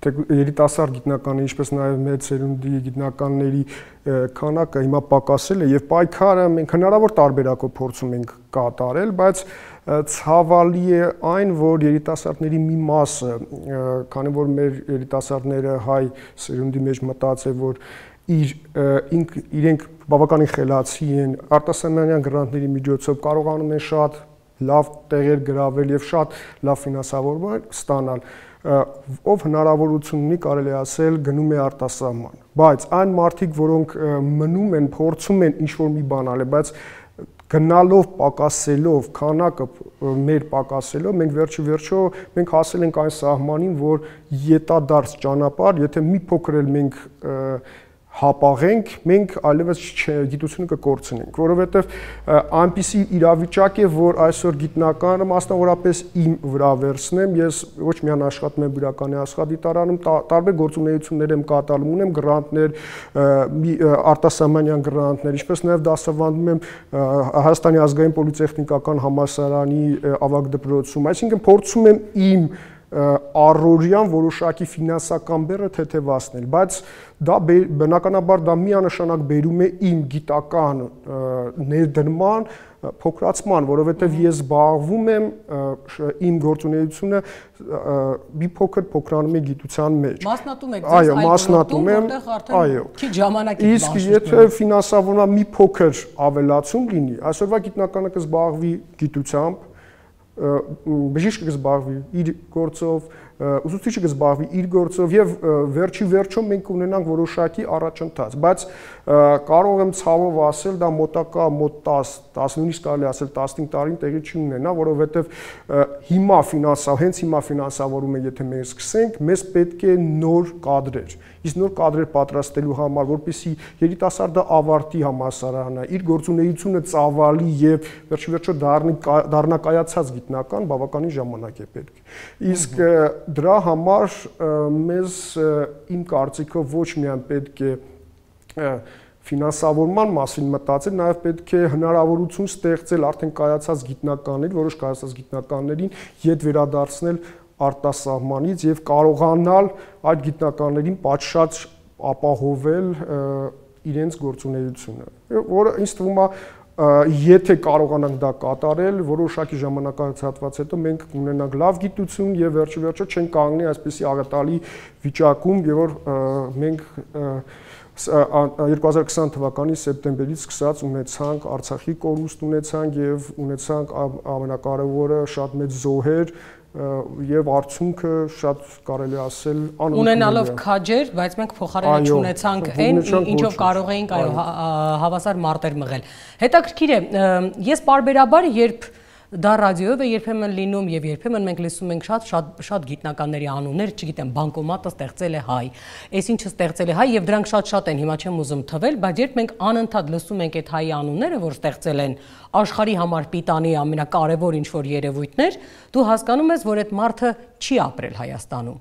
երիտասարդ գիտնականների, ինչպես նաև մեծ սերունդի գիտնականների քանակը հիմա պակասել է եւ պայքարը մենք հնարավոր տարբերակով փորձում ենք կատարել, բայց ցավալի է այն, որ երիտասարդների մի մասը, քանի որ մեր երիտասարդները հայ սերունդի մեջ մտած է, որ իր ինք իրենք բավականին խելացի են, արտասահմանյան գրանտների միջոցով կարողանում են շատ լավ տեղեր գրավել եւ շատ լավ ֆինանսավորում ստանալ, ով հնարավորություն ունի, կարելի ասել, գնում է արտասահման, բայց այն մարդիկ, որոնք մնում են, փորձում են ինչ-որ մի բան անել, բայց գնալով, պակասելով, քանակը մեր պակասելով, մենք վերջի վերջո մենք հասել ենք այն սահմանին, որ ետադարձ ճանապարհ, եթե մի փոքր էլ մենք հապաղենք, մենք այլևս գիտությունը կկորցնենք, որովհետև այնպիսի իրավիճակ է, որ այսօր գիտնականը մասնավորապես իմ վրա վերցնեմ, ես ոչ միայն աշխատում եմ Բյուրականի աստղադիտարանում, տարբեր գործունեություններ եմ կատարում, ունեմ գրանտներ, արտասահմանյան գրանտներ, ինչպես նաև դասավանդում եմ Հայաստանի ազգային պոլիտեխնիկական համալսարանի ավագ դպրոցում, այսինքն փորձում եմ իմ առօրյան որոշակի ֆինանսական բեռը թեթևացնել, բայց դա բնականաբար դա միանշանակ բերում է իմ գիտական ներդրման փոքրացման, որովհետև ես զբաղվում եմ իմ գործունեությունը մի փոքր փոքրանում է գիտության մեջ։ Մասնատում եք այո, մասնատում եմ, այո։ Քիչ ժամանակ եք իսկ եթե ֆինանսավորման մի փոքր ավելացում լինի, այսօրվա գիտնականը կզբաղվի գիտությամբ, բժիշկը կզբաղվի իր գործով, ուսուցիչը կզբաղվի իր գործով եւ վերջի վերջում մենք ունենանք որոշակի առաջընթաց, բայց կարող եմ ցավով ասել, դա մոտակա մոտ դես, տասնինը կարելի ասել տասնհինգ տարին տեղի չի ունենա, որովհետեւ հիմա ֆինանսա, հենց հիմա ֆինանսավորումը եթե մենք սկսենք, մեզ պետք է նոր կադրեր, իսկ նոր կադրեր պատրաստելու համար, որպեսզի երիտասարդը ավարտի համալսարանը, իր գործունեությունը ծավալի եւ վերջի վերջո դառնի դառնա կայացած գիտնական, բավականին ժամանակ է պետք։ Իսկ դրա համար մեզ իմ կարծիքով ոչ միայն պետք է ֆինանսավորման մասին մտածել, նաև պետք է հնարավորություն ստեղծել արդեն կայացած գիտնականներին, որոշ կայացած գիտնականներին յետ վերադարձնել արտասահմանից եւ կարողանալ այդ գիտնականներին պատշաճ ապահովել իրենց գործունեությունը, որը ինձ թվում է եթե կարողանանք դա կատարել, որոշակի ժամանակահատված հետո մենք ունենանք լավ գիտություն եւ վերջի վերջո չենք կանգնի այսպիսի աղետալի վիճակում, եւ որ մենք երկու հազար քսան թվականի սեպտեմբերից սկսած ունեցանք Արցախի կորուստ ունեցանք եւ ունեցանք ամենակարևորը շատ մեծ զոհեր եւ արդյունքը շատ կարելի ասել անընդհատ ունենալով քաջեր, բայց մենք փոխարենը չունեցանք այն, ինչով կարող էինք այո հավասար մարտեր մղել։ Հետաքրքիր է, ես պարբերաբար երբ դա ռադիոյով է երբեմն լինում եւ երբեմն մենք լսում ենք շատ շատ շատ գիտնականների անուններ, չգիտեմ, բանկոմատը ստեղծել է հայ, այսինչը ստեղծել է հայ եւ դրանք շատ-շատ են, հիմա չեմ ուզում թվել, բայց երբ մենք անընդհատ լսում ենք այդ հայի անունները, որ ստեղծել են աշխարհի համար պիտանի ամենակարևոր ինչ-որ երևույթներ, դու հասկանում ես, որ այդ մարդը չի ապրել Հայաստանում։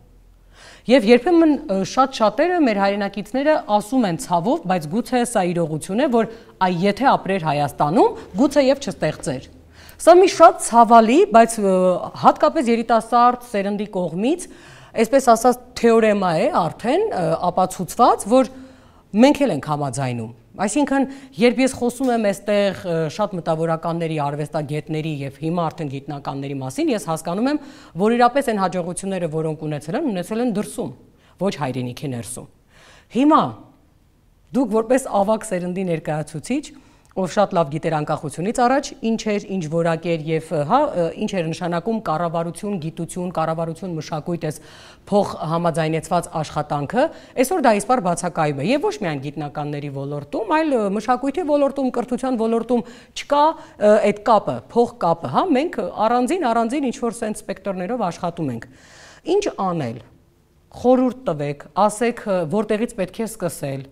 Եվ երբեմն շատ շատերը մեր հայրենակիցները ասում են ցավով, բայց գուցե սա իրողություն է, որ այ եթե ապրեր Հայաստանում, գուցե եւ չստեղծեր։ Սա մի շատ ցավալի, բայց հատկապես երիտասարդ սերնդի կողմից, այսպես ասած թեորեմա է արդեն ապացուցված, որ մենք էլ ենք համաձայնում։ Այսինքն, երբ ես խոսում եմ այստեղ շատ մտավորականների, արվեստագետների եւ հիմա արդեն գիտնականների մասին, ես հասկանում եմ, որ իրապես այն հաջողությունները, որոնք ունեցել են, ունեցել են դրսում, ոչ հայրենիքի ներսում։ Հիմա դուք որպես ավագ սերնդի ներկայացուցիչ, ով շատ լավ գիտեր անկախությունից առաջ, ինչ էր, ինչ որակ էր եւ հա, ինչ էր նշանակում կառավարություն, գիտություն, կառավարություն, մշակույթ, այս փող համաձայնեցված աշխատանքը, այսօր դա իսպար բացակայում է եւ ոչ միայն գիտնականների ոլորտում, այլ մշակույթի ոլորտում, կրթության ոլորտում չկա այդ կապը, փող կապը, հա, մենք առանձին առանձին ինչ որ սենց սպեկտրներով աշխատում ենք։ Ինչ անել։ Խորհուրդ տվեք, ասեք որտեղից պետք է սկսել,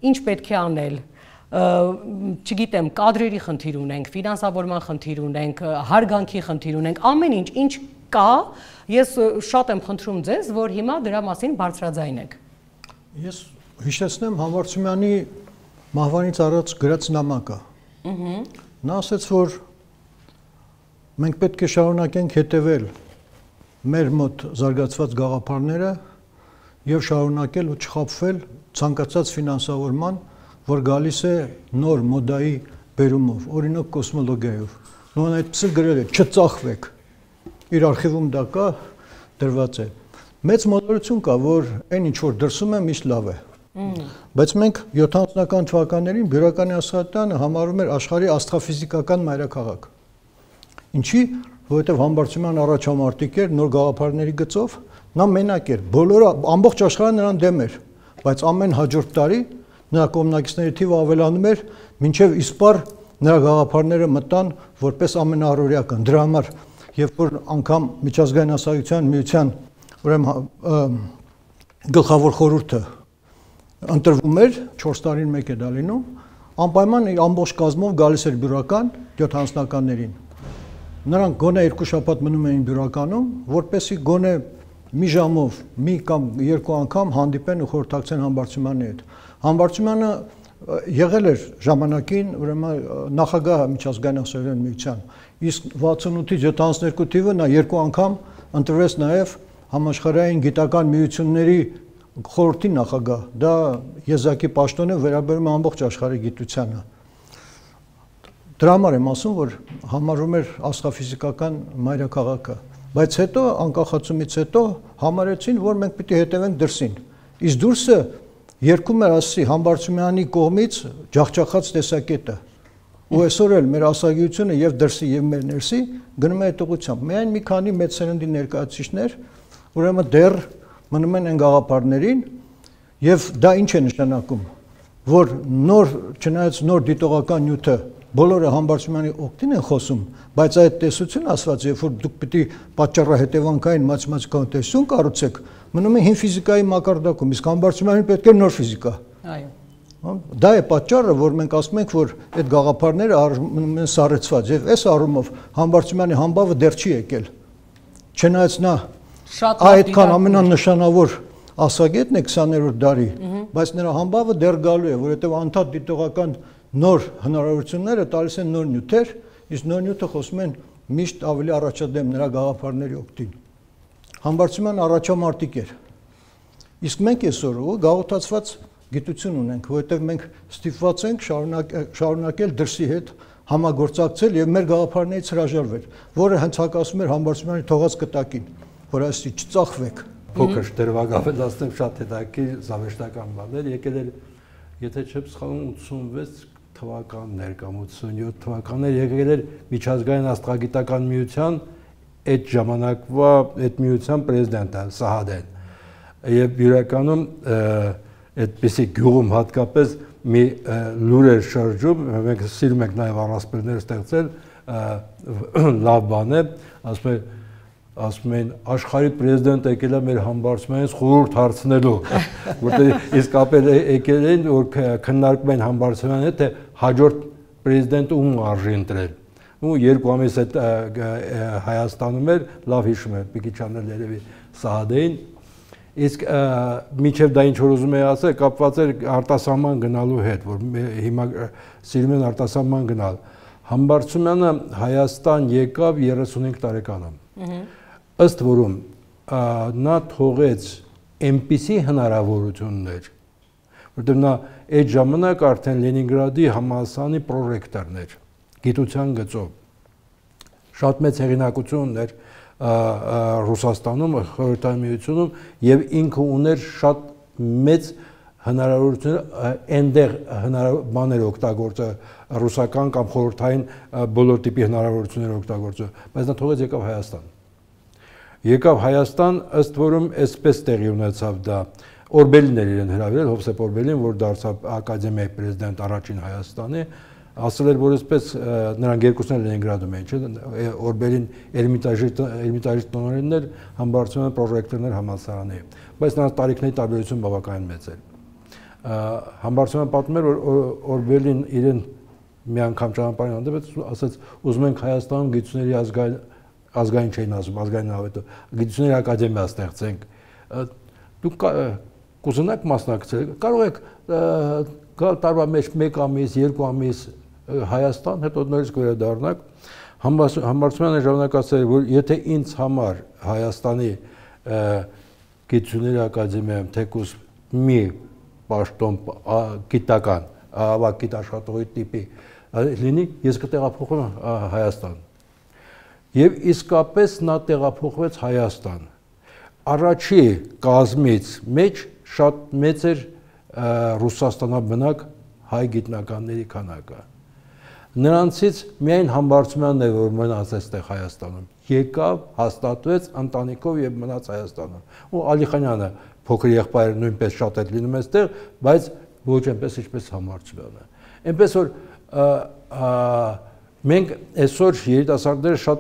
ինչ պետք է անել։ Չգիտեմ, կադրերի խնդիր ունենք, ֆինանսավորման խնդիր ունենք, հարգանքի խնդիր ունենք, ամեն ինչ, ինչ կա, ես շատ եմ խնդրում ձեզ, որ հիմա դրա մասին բարձրաձայնեք։ Ես հիշեցնեմ Համբարձումյանի մահվանից առաջ գրած նամակը։ Նա ասաց, որ մենք պետք է շարունակենք հետևել մեր մոտ զարգացված գաղափարները եւ շարունակել ու չխաբվել ցանկացած ֆինանսավորման, որ գալիս է նոր մոդայի բերումով, օրինակ կոսմոլոգիայով։ Նույն այդպես էլ գրել է, չծախվեք։ Իր արխիվում դա կա, դրված է։ Մեծ մոտեցում կա, որ այն ինչ որ դրսում է, միշտ լավ է։ Բայց մենք յոթանասունական թվականներին բյուրականի աստղադիտարանը համարում էր աշխարհի աստղաֆիզիկական մայրաքաղաք։ Ինչի, որովհետև Համբարձումյան առաջամարտիկ էր նոր գաղափարների գծով, նա մենակ էր, բոլորը ամբողջ աշխարհը նրան դեմ էր, բայց ամեն հաջորդ տարի նրա կողմնակիցների թիվը ավելանում էր, մինչև իսպառ նրա գաղափարները մտան որպես ամենաառօրեական։ Դրա համար, երբ որ անգամ միջազգային հասարակության միության ուրեմն գլխավոր խորհուրդը ընտրվում էր, չորս տարին մեկ է դա լինում, անպայման իր ամբողջ կազմով գալիս էր բյուրական յոթանասունականներին։ Նրանք գոնե երկու շաբաթ մնում էին բյուրականում, որպեսզի գոնե մի ժամով, մի կամ երկու անգամ հանդիպեն ու խորհրդակցեն Համբարձումյանի հետ։ Համբարձումյանը եղել էր ժամանակին ուրեմն նախագահ միջազգային հասարակության միության, իսկ վաթսունութից յոթանասունյոթ թիվը նա երկու անգամ ընտրվեց նաև համաշխարհային գիտական միությունների խորհրդի նախագահ։ Դա եզակի պաշտոն է, վերաբերում է ամբողջ աշխարհի գիտությանը։ Դրա համար եմ ասում, որ համարում էր աստղաֆիզիկական մայրաքաղաքը, բայց հետո անկախացումից հետո համարեցին, որ մենք պիտի հետևենք դրսին։ Իսկ դուրսը երկում էր ասի Համբարձումյանի կողմից ջախջախած տեսակետը։ Ու այսօր էլ մեր ասագիտությունը եւ դրսի եւ մեր ներսի գնում է այդ ուղղությամբ։ Միայն մի քանի մեծ սերնդի ներկայացուցիչներ ուրեմն դեռ մնում են այն գաղափարներին եւ դա ինչ է նշանակում, որ նոր, չնայած նոր դիտողական նյութը բոլորը Համբարձումյանի օգտին են խոսում, բայց այդ տեսությունը ասված, երբ որ դուք պիտի պատճառահետևանքային մաթեմատիկական տեսություն կառուցեք, մնում է հին ֆիզիկայի մակարդակում, իսկ Համբարձումյանին պետք է նոր ֆիզիկա։ Այո։ Դա է պատճառը, որ մենք ասում ենք, որ այդ գաղափարները մնում են սառեցված եւ այս առումով Համբարձումյանի համբավը դեռ չի եկել։ Չնայած նա այդքան ամենանշանավոր ասագետն է քսաներորդ դարի, բայց նրա համբավը դեռ գալու է, որովհետեւ անդադ դիտողական նոր հնարավորությունները տալիս են նոր նյութեր, իսկ նոր նյութը խոսում են միշտ ավելի առաջադեմ նրա գաղափարների օգտին։ Համբարձումյան առաջամարտիկ էր։ Իսկ մենք այսօր գաղութացված գիտություն ունենք, որովհետև մենք ստիպված ենք շարունակ, շարունակել դրսի հետ համագործակցել եւ մեր գաղափարներից հրաժարվել, որը հենց հակասում էր Համբարձումյանի թողած կտակին, որ ասի չծախվեք։ Փոքր դերվագավելացնեմ շատ հետաքրքիր զավեշտական բաներ, եկել էր, եթե չեմ սխալվում ութսունվեց թվականներ կամ ութսունյոթ թվականներ եկել էր միջազգային աստղագիտական միության այդ ժամանակվա այդ միության պրեզիդենտը Սահադեն եւ իրականում այդպիսի գյուղում հատկապես մի լուր էր շրջում, մենք սիրում ենք նաեւ առասպելներ ստեղծել, լավ բան է, ասում է ասում են աշխարհի պրեզիդենտը եկել է մեր Համբարձումյանից խորհուրդ հարցնելու, որտեղ իսկապես եկել են որ քննարկում են Համբարձումյանի հետ, թե հաջորդ պրեզիդենտը ում արժի ընտրել։ Ու երկու ամիս այդ Հայաստանում էր, լավ հիշում եմ, Պիկիչյանն երևի Սահադեին, իսկ միջև դա ինչ որ ուզում էի ասել, կապված էր արտասահման գնալու հետ, որ հիմա սիրում են արտասահման գնալ։ Համբարձումյանը Հայաստան եկավ երեսունհինգ տարեկանում։ Ըստ որում նա թողեց այնպիսի հնարավորություններ, որտեղ նա այդ ժամանակ արդեն Լենինգրադի համալսարանի պրոռեկտորն էր, գիտության գծով։ Շատ մեծ հեղինակություն էր Ռուսաստանում, Խորհրդային Միությունում եւ ինքը ուներ շատ մեծ հնարավորություններ այնտեղ բաներ օգտագործել, ռուսական կամ խորհրդային բոլոր տիպի հնարավորություններ օգտագործել, բայց նա թողեց եկավ Հայաստան։ Եկավ Հայաստան, ըստ որում այսպես տեղի ունեցավ դա, Օրբելին էր իրեն հրավիրել, Հովսեփ Օրբելին, որ դարձավ ակադեմիայի պրեզիդենտ առաջին Հայաստանի, ասել էր, որ այսպես նրանք երկուսն էլ Լենինգրադում էին, չէ՞, Օրբելին Էրմիտաժի Էրմիտաժի տնօրենն էր, Համբարձումյանը պրոռեկտորն էր համալսարանի, բայց նրանց տարիքների տարբերությունը բավականին մեծ էր։ Համբարձումյանը պատմում էր, որ Օրբելին իրեն մի անգամ ճանապարհին հանդիպեց, ասաց, ուզում ենք Հայաստանում գիտությունների ազգային ազգային չէին ասում, ազգային հավետը, գիտությունների ակադեմիա ստեղծենք։ Դուք կուզենաք մասնակցել, կարող եք գալ տարվա մեջ մեկ ամիս, երկու ամիս Հայաստան, հետո նորից վերադառնաք։ Համբարձումյանը ժամանակացել որ եթե ինձ համար Հայաստանի գիտությունների ակադեմիայում թեկուզ մի պաշտոն գիտական, ավագ գիտաշխատողի տիպի լինի, ես կտեղափոխվեմ Հայաստան։ Եվ իսկապես նա տեղափոխվեց Հայաստան։ Առաջի կազմից մեջ շատ մեծ էր Ռուսաստանաբնակ հայ գիտնականների քանակը։ Նրանցից միայն Համբարձումյանն է, որ մնաց այստեղ Հայաստանում։ Եկավ, հաստատվեց ընտանիքով եւ մնաց Հայաստանում։ Ու Ալիխանյանը փոքր եղբայրը նույնպես շատ էր լինում այստեղ, բայց ոչ այնպես ինչպես Համբարձումյանը։ Այնպես որ մենք այսօր երիտասարդները շատ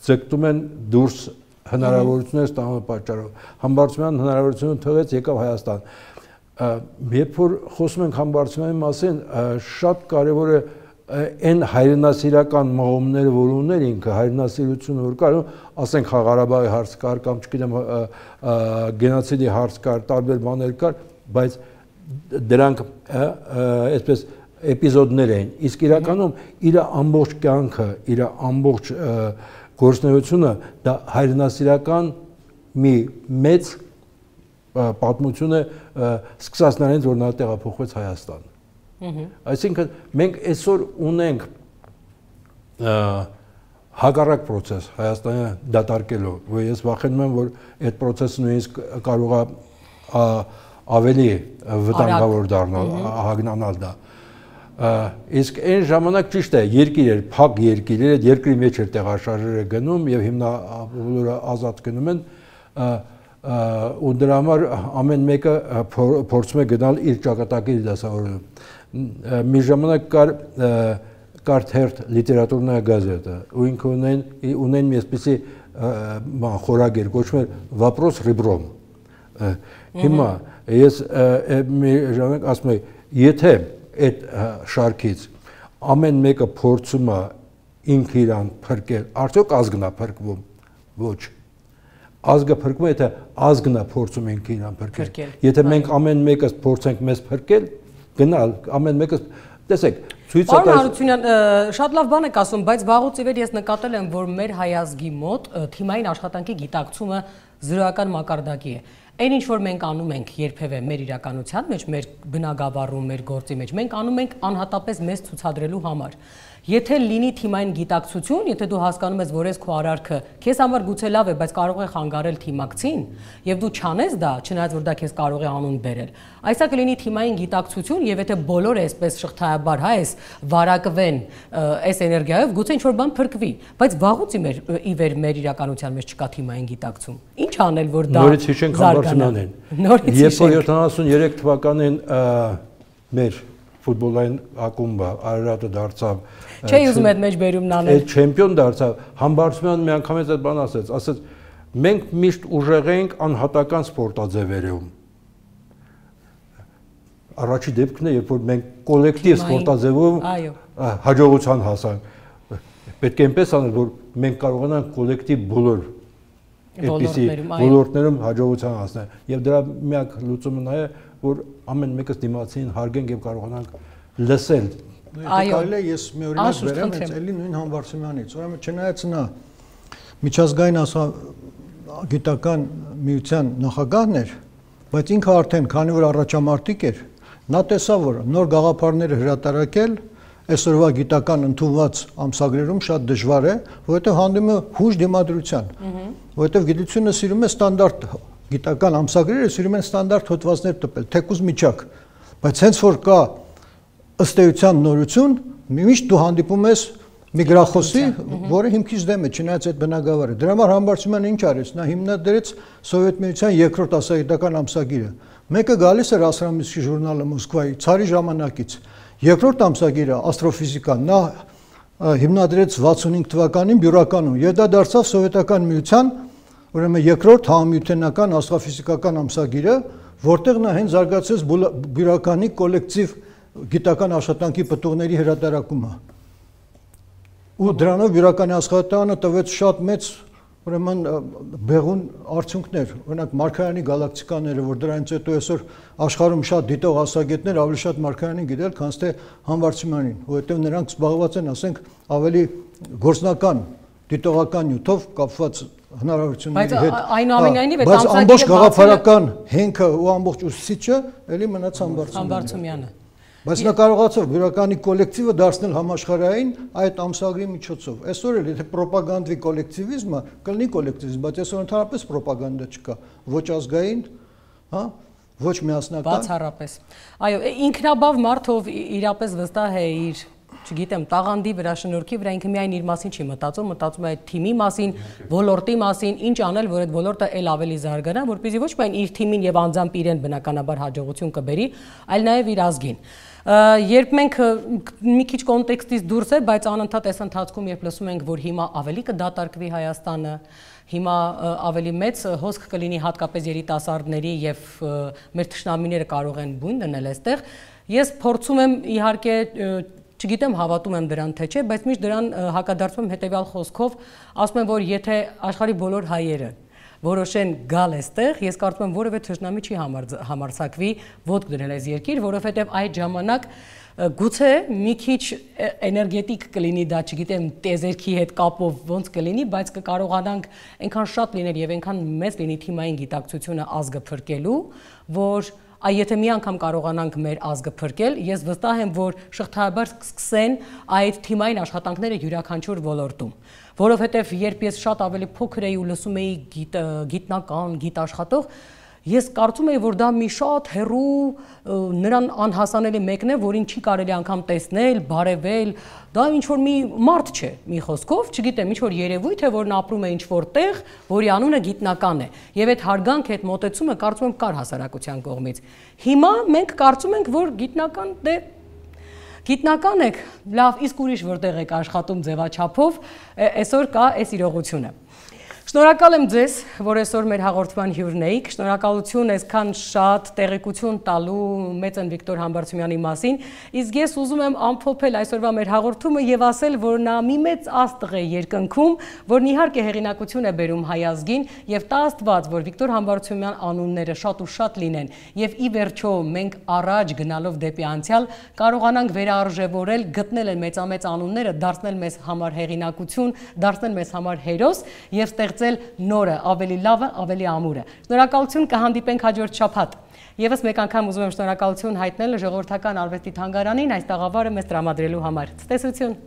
ձգտում են դուրս հնարավորություններ ստանալու պատճառով։ Համբարձումյանը հնարավորությունը թողեց, եկավ Հայաստան։ Երբ որ խոսում ենք Համբարձումյանի մասին, շատ կարևոր է այն հայրենասիրական մղումները, որ ուներ ինքը, հայրենասիրությունը, որ կար, ասենք Ղարաբաղի հարց կար, կամ չգիտեմ գենոցիդի հարց կար, տարբեր բաներ կար, բայց դրանք այսպես էպիզոդներ էին։ Իսկ իրականում իր ամբողջ կյանքը, իր ամբողջ գործունեությունը դա հայրենասիրական մի մեծ պատմություն է սկսած նրանից, որ նա տեղափոխվեց Հայաստան։ Այսինքն մենք այսօր ունենք հակառակ process Հայաստանը դատարկելու, որ ես վախենում եմ, որ այդ process-ը նույնիսկ կարող է ավելի վտանգավոր դառնալ, հագնանալ դա։ Իսկ այն ժամանակ ճիշտ է, երկիր էր, փակ երկիր էր, այդ երկրի մեջ էր տեղաշարժերը գնում եւ հիմա բոլորը ազատ գնում են ու դրա համար ամեն մեկը փորձում է գնալ իր ճակատագրի դասավորում։ Մի ժամանակ կար կար թերթ լիտերատուրная գազետա, ու ինքը ունեն ունեն մի այսպիսի խորագիր, կոչվում էր Вопрос ребром։ Հիմա ես մի ժամանակ ասում եմ, եթե այդ շարքից ամեն մեկը փորձում է ինքը իրան փրկել, արդյոք ազգն է փրկվում։ Ոչ։ Ազգը փրկվում է, եթե ազգն է փորձում ինքը իրան փրկել։ Եթե մենք ամեն մեկը փորձենք մեզ փրկել, գնալ, ամեն մեկը տեսեք, ցույց է տալիս։ Պարոն Հարությունյան, շատ լավ բան եք ասում, բայց վաղուց ի վեր ես նկատել եմ, որ մեր հայ ազգի մոտ թիմային աշխատանքի գիտակցումը զրոյական մակարդակի է։ Այն ինչ որ մենք անում ենք երբևէ մեր իրականության մեջ, մեր բնագավառում, մեր գործի մեջ, մենք անում ենք անհատապես մեզ ցուցադրելու համար։ Եթե լինի թիմային գիտակցություն, եթե դու հասկանում ես, որ ես քո արարքը քեզ համար գուցե լավ է, բայց կարող է խանգարել թիմակցին, եւ դու չանես դա, չնայած որ դա քեզ կարող է անուն բերել։ Այսա կլինի թիմային գիտակցություն, եւ եթե բոլորը այսպես շղթայաբար հա էս վարակվեն այս էներգիայով, գուցե ինչ որ բան փրկվի, բայց վաղուց ի մեր ի վեր մեր իրականության մեջ չկա թիմային գիտակցում։ Ինչ անել, որ դա նորից հիշենք Համբարձումյանին։ Երբ որ յոթանասուններեք թվականին մեր ֆուտբոլային ակումբը Արարատը դարձավ Չէ ուզում այդ մեջ բերումն անել։ Այդ չեմպիոն դարձավ, Համբարձումյանը մի անգամից այդ բան ասեց, ասեց մենք միշտ ուժեղ ենք անհատական սպորտաձևերում։ Առաջի դեպքն է, երբ որ մենք կոլեկտիվ սպորտաձևով հաջողության հասանք։ Պետք է այնպես անել, որ մենք կարողանանք կոլեկտիվ բոլոր այդպիսի ոլորտներում հաջողության հասնել։ Եվ դրա միակ լուծումը նա է, որ ամեն մեկս դիմացին հարգենք եւ կարողանանք լսել։ Այո, ես մի օրինակ բերեմ, հենց էլի նույն Համբարձումյանից։ Ուրեմն չնայած նա միջազգային գիտական միության նախագահն էր, բայց ինքը արդեն քանի որ առաջամարտիկ էր, նա տեսավ, որ նոր գաղափարները հրատարակել այսօրվա գիտական ընդունված ամսագրերում շատ դժվար է, որովհետև հանդիպում է հուժ դիմադրության, որովհետև գիտությունը սիրում է ստանդարտ գիտական ամսագրերը սիրում են ստանդարտ հոդվածներ տպել, թեկուզ միջակ, բայց հենց որ կա ըստ էության նորություն, միշտ դու հանդիպում ես մի գրախոսի, որը հիմքից դեմ է, չնայած այդ բնագավառը։ Դրա համար Համբարձումյանը ինչ արեց, նա հիմնադրեց Սովետ միության երկրորդ ասագիտական ամսագիրը։ Մեկը գալիս էր Աստրոմիսկի ժուրնալը Մոսկվայի, ցարի ժամանակից։ Երկրորդ ամսագիրը աստրոֆիզիկան, նա հիմնադրեց վաթսունհինգ թվականին Բյուրականում, եւ դա դարձավ Սովետական միության ուրեմն երկրորդ համամիութենական աստրոֆիզիկական ամսագիրը, որտեղ նա հենց զարգացրեց Բյուրականի կոլեկտիվ գիտական աշխատանքի պտուղների հրատարակումը։ ու դրանով Բյուրականի աշխատականը տվեց շատ մեծ ուրեմն բեղուն արդյունքներ, օրինակ Մարգարյանի գալակտիկաները, որ դրանից հետո այսօր աշխարհում շատ դիտող աստղագետներ ավելի շատ Մարգարյանին գիտել, քան թե Համբարձումյանին, որովհետև նրանք զբաղված են, ասենք, ավելի գործնական դիտողական նյութով կապված հնարավորությունների հետ։ Բայց այնուամենայնիվ այդ ամսագիրը ամբողջ գաղափարական հենքը ու ամբողջ ուսուցիչը էլի մնաց Համբարձումյանը։ Բայց նա կարողացավ Բյուրականի կոլեկտիվը դարձնել համաշխարհային այդ ամսագրի միջոցով։ Այսօր էլ եթե ռոպագանդվի կոլեկտիվիզմը, կլինի կոլեկտիվիզմ, բայց այսօր ընդհանրապես ռոպագանդա չկա, ոչ ազգային, հա, ոչ միասնական։ Բացառապես։ Այո, ինքնաբավ մարդ, ով իրապես վստահ է իր, չգիտեմ, տաղանդի վրա, շնորհքի վրա, ինքը միայն իր մասին չի մտածում, մտածում է այդ թիմի մասին, ոլորտի մասին, ինչ անել, որ այդ ոլորտը ել ավելի զարգանա, որպեսզի ոչ միայն իր թիմին եւ անձամբ իրեն բնականաբար հաջողություն կբերի, այլ նաեւ իր ազգին։ Երբ մենք մի քիչ կոնտեքստից դուրս է, բայց անընդհատ այս ընթացքում երբ լսում ենք, որ հիմա ավելի կդատարկվի Հայաստանը, հիմա ավելի մեծ հոսք կլինի հատկապես երիտասարդների եւ մեր թշնամիները կարող են բույն դնել այստեղ, ես փորձում եմ իհարկե չգիտեմ հավատում եմ դրան թե չէ, բայց միշտ դրան հակադարձում եմ հետեւյալ խոսքով, ասում եմ, որ եթե աշխարհի բոլոր հայերը որոշեն գալ այստեղ, ես կարծում եմ որևէ թշնամի չի համարձակվի ոտք դնել այս երկիր, որովհետև այդ ժամանակ գուցե մի քիչ էներգետիկ կլինի դա, չգիտեմ, տեզերքի հետ կապով ոնց կլինի, բայց կկարողանանք այնքան շատ լինել եւ այնքան մեծ լինի թիմային գիտակցությունը ազգը փրկելու, որ Այ եթե մի անգամ կարողանանք մեր ազգը փրկել, ես վստահ եմ, որ շղթայաբար կսկսեն այդ թիմային աշխատանքները յուրաքանչյուր ոլորտում, որովհետև երբ ես շատ ավելի փոքր էի ու լսում էի գիտնական, գիտաշխատող, ես կարծում էի, որ դա մի շատ հեռու նրան անհասանելի մեկն է, որին չի կարելի անգամ տեսնել, բարևել, դա ինչ-որ մի մարդ չէ, մի խոսքով, չգիտեմ, ինչ-որ երևույթ է, որն ապրում է ինչ-որ տեղ, որի անունը գիտնական է, եւ այդ հարգանքը, այդ մոտեցումը կարծում եմ կար հասարակության կողմից։ Հիմա մենք կարծում ենք, որ գիտնական դե գիտնական եք, լավ, իսկ ուրիշ որտեղ եք աշխատում ձևաչափով, այսօր կա այս իրողությունը։ Շնորհակալ եմ ձեզ, որ այսօր մեր հաղորդման հյուրն էիք, շնորհակալություն այսքան շատ տեղեկություն տալու մեծն Վիկտոր Համբարձումյանի մասին, իսկ ես ուզում եմ ամփոփել այսօրվա մեր հաղորդումը եւ ասել, որ նա մի մեծ աստղ է երկնքում, որն իհարկե հեղինակություն է բերում հայ ազգին եւ տա Աստված, որ Վիկտոր Համբարձումյան անունները շատ ու շատ լինեն եւ ի վերջո մենք առաջ գնալով դեպի անցյալ կարողանանք վերարժևորել, գտնել այն մեծամեծ անունները, դարձնել մեզ համար հեղինակություն, դարձնել մեզ համար հերոս եւ նորը, ավելի լավը, ավելի ամուրը։ Շնորհակալություն, կհանդիպենք հաջորդ շաբաթ։ Եվս մեկ անգամ ուզում եմ շնորհակալություն հայտնել ժողովրդական արվեստի թանգարանին այս տաղավարը մեզ տրամադրելու համար։ Ցտեսություն։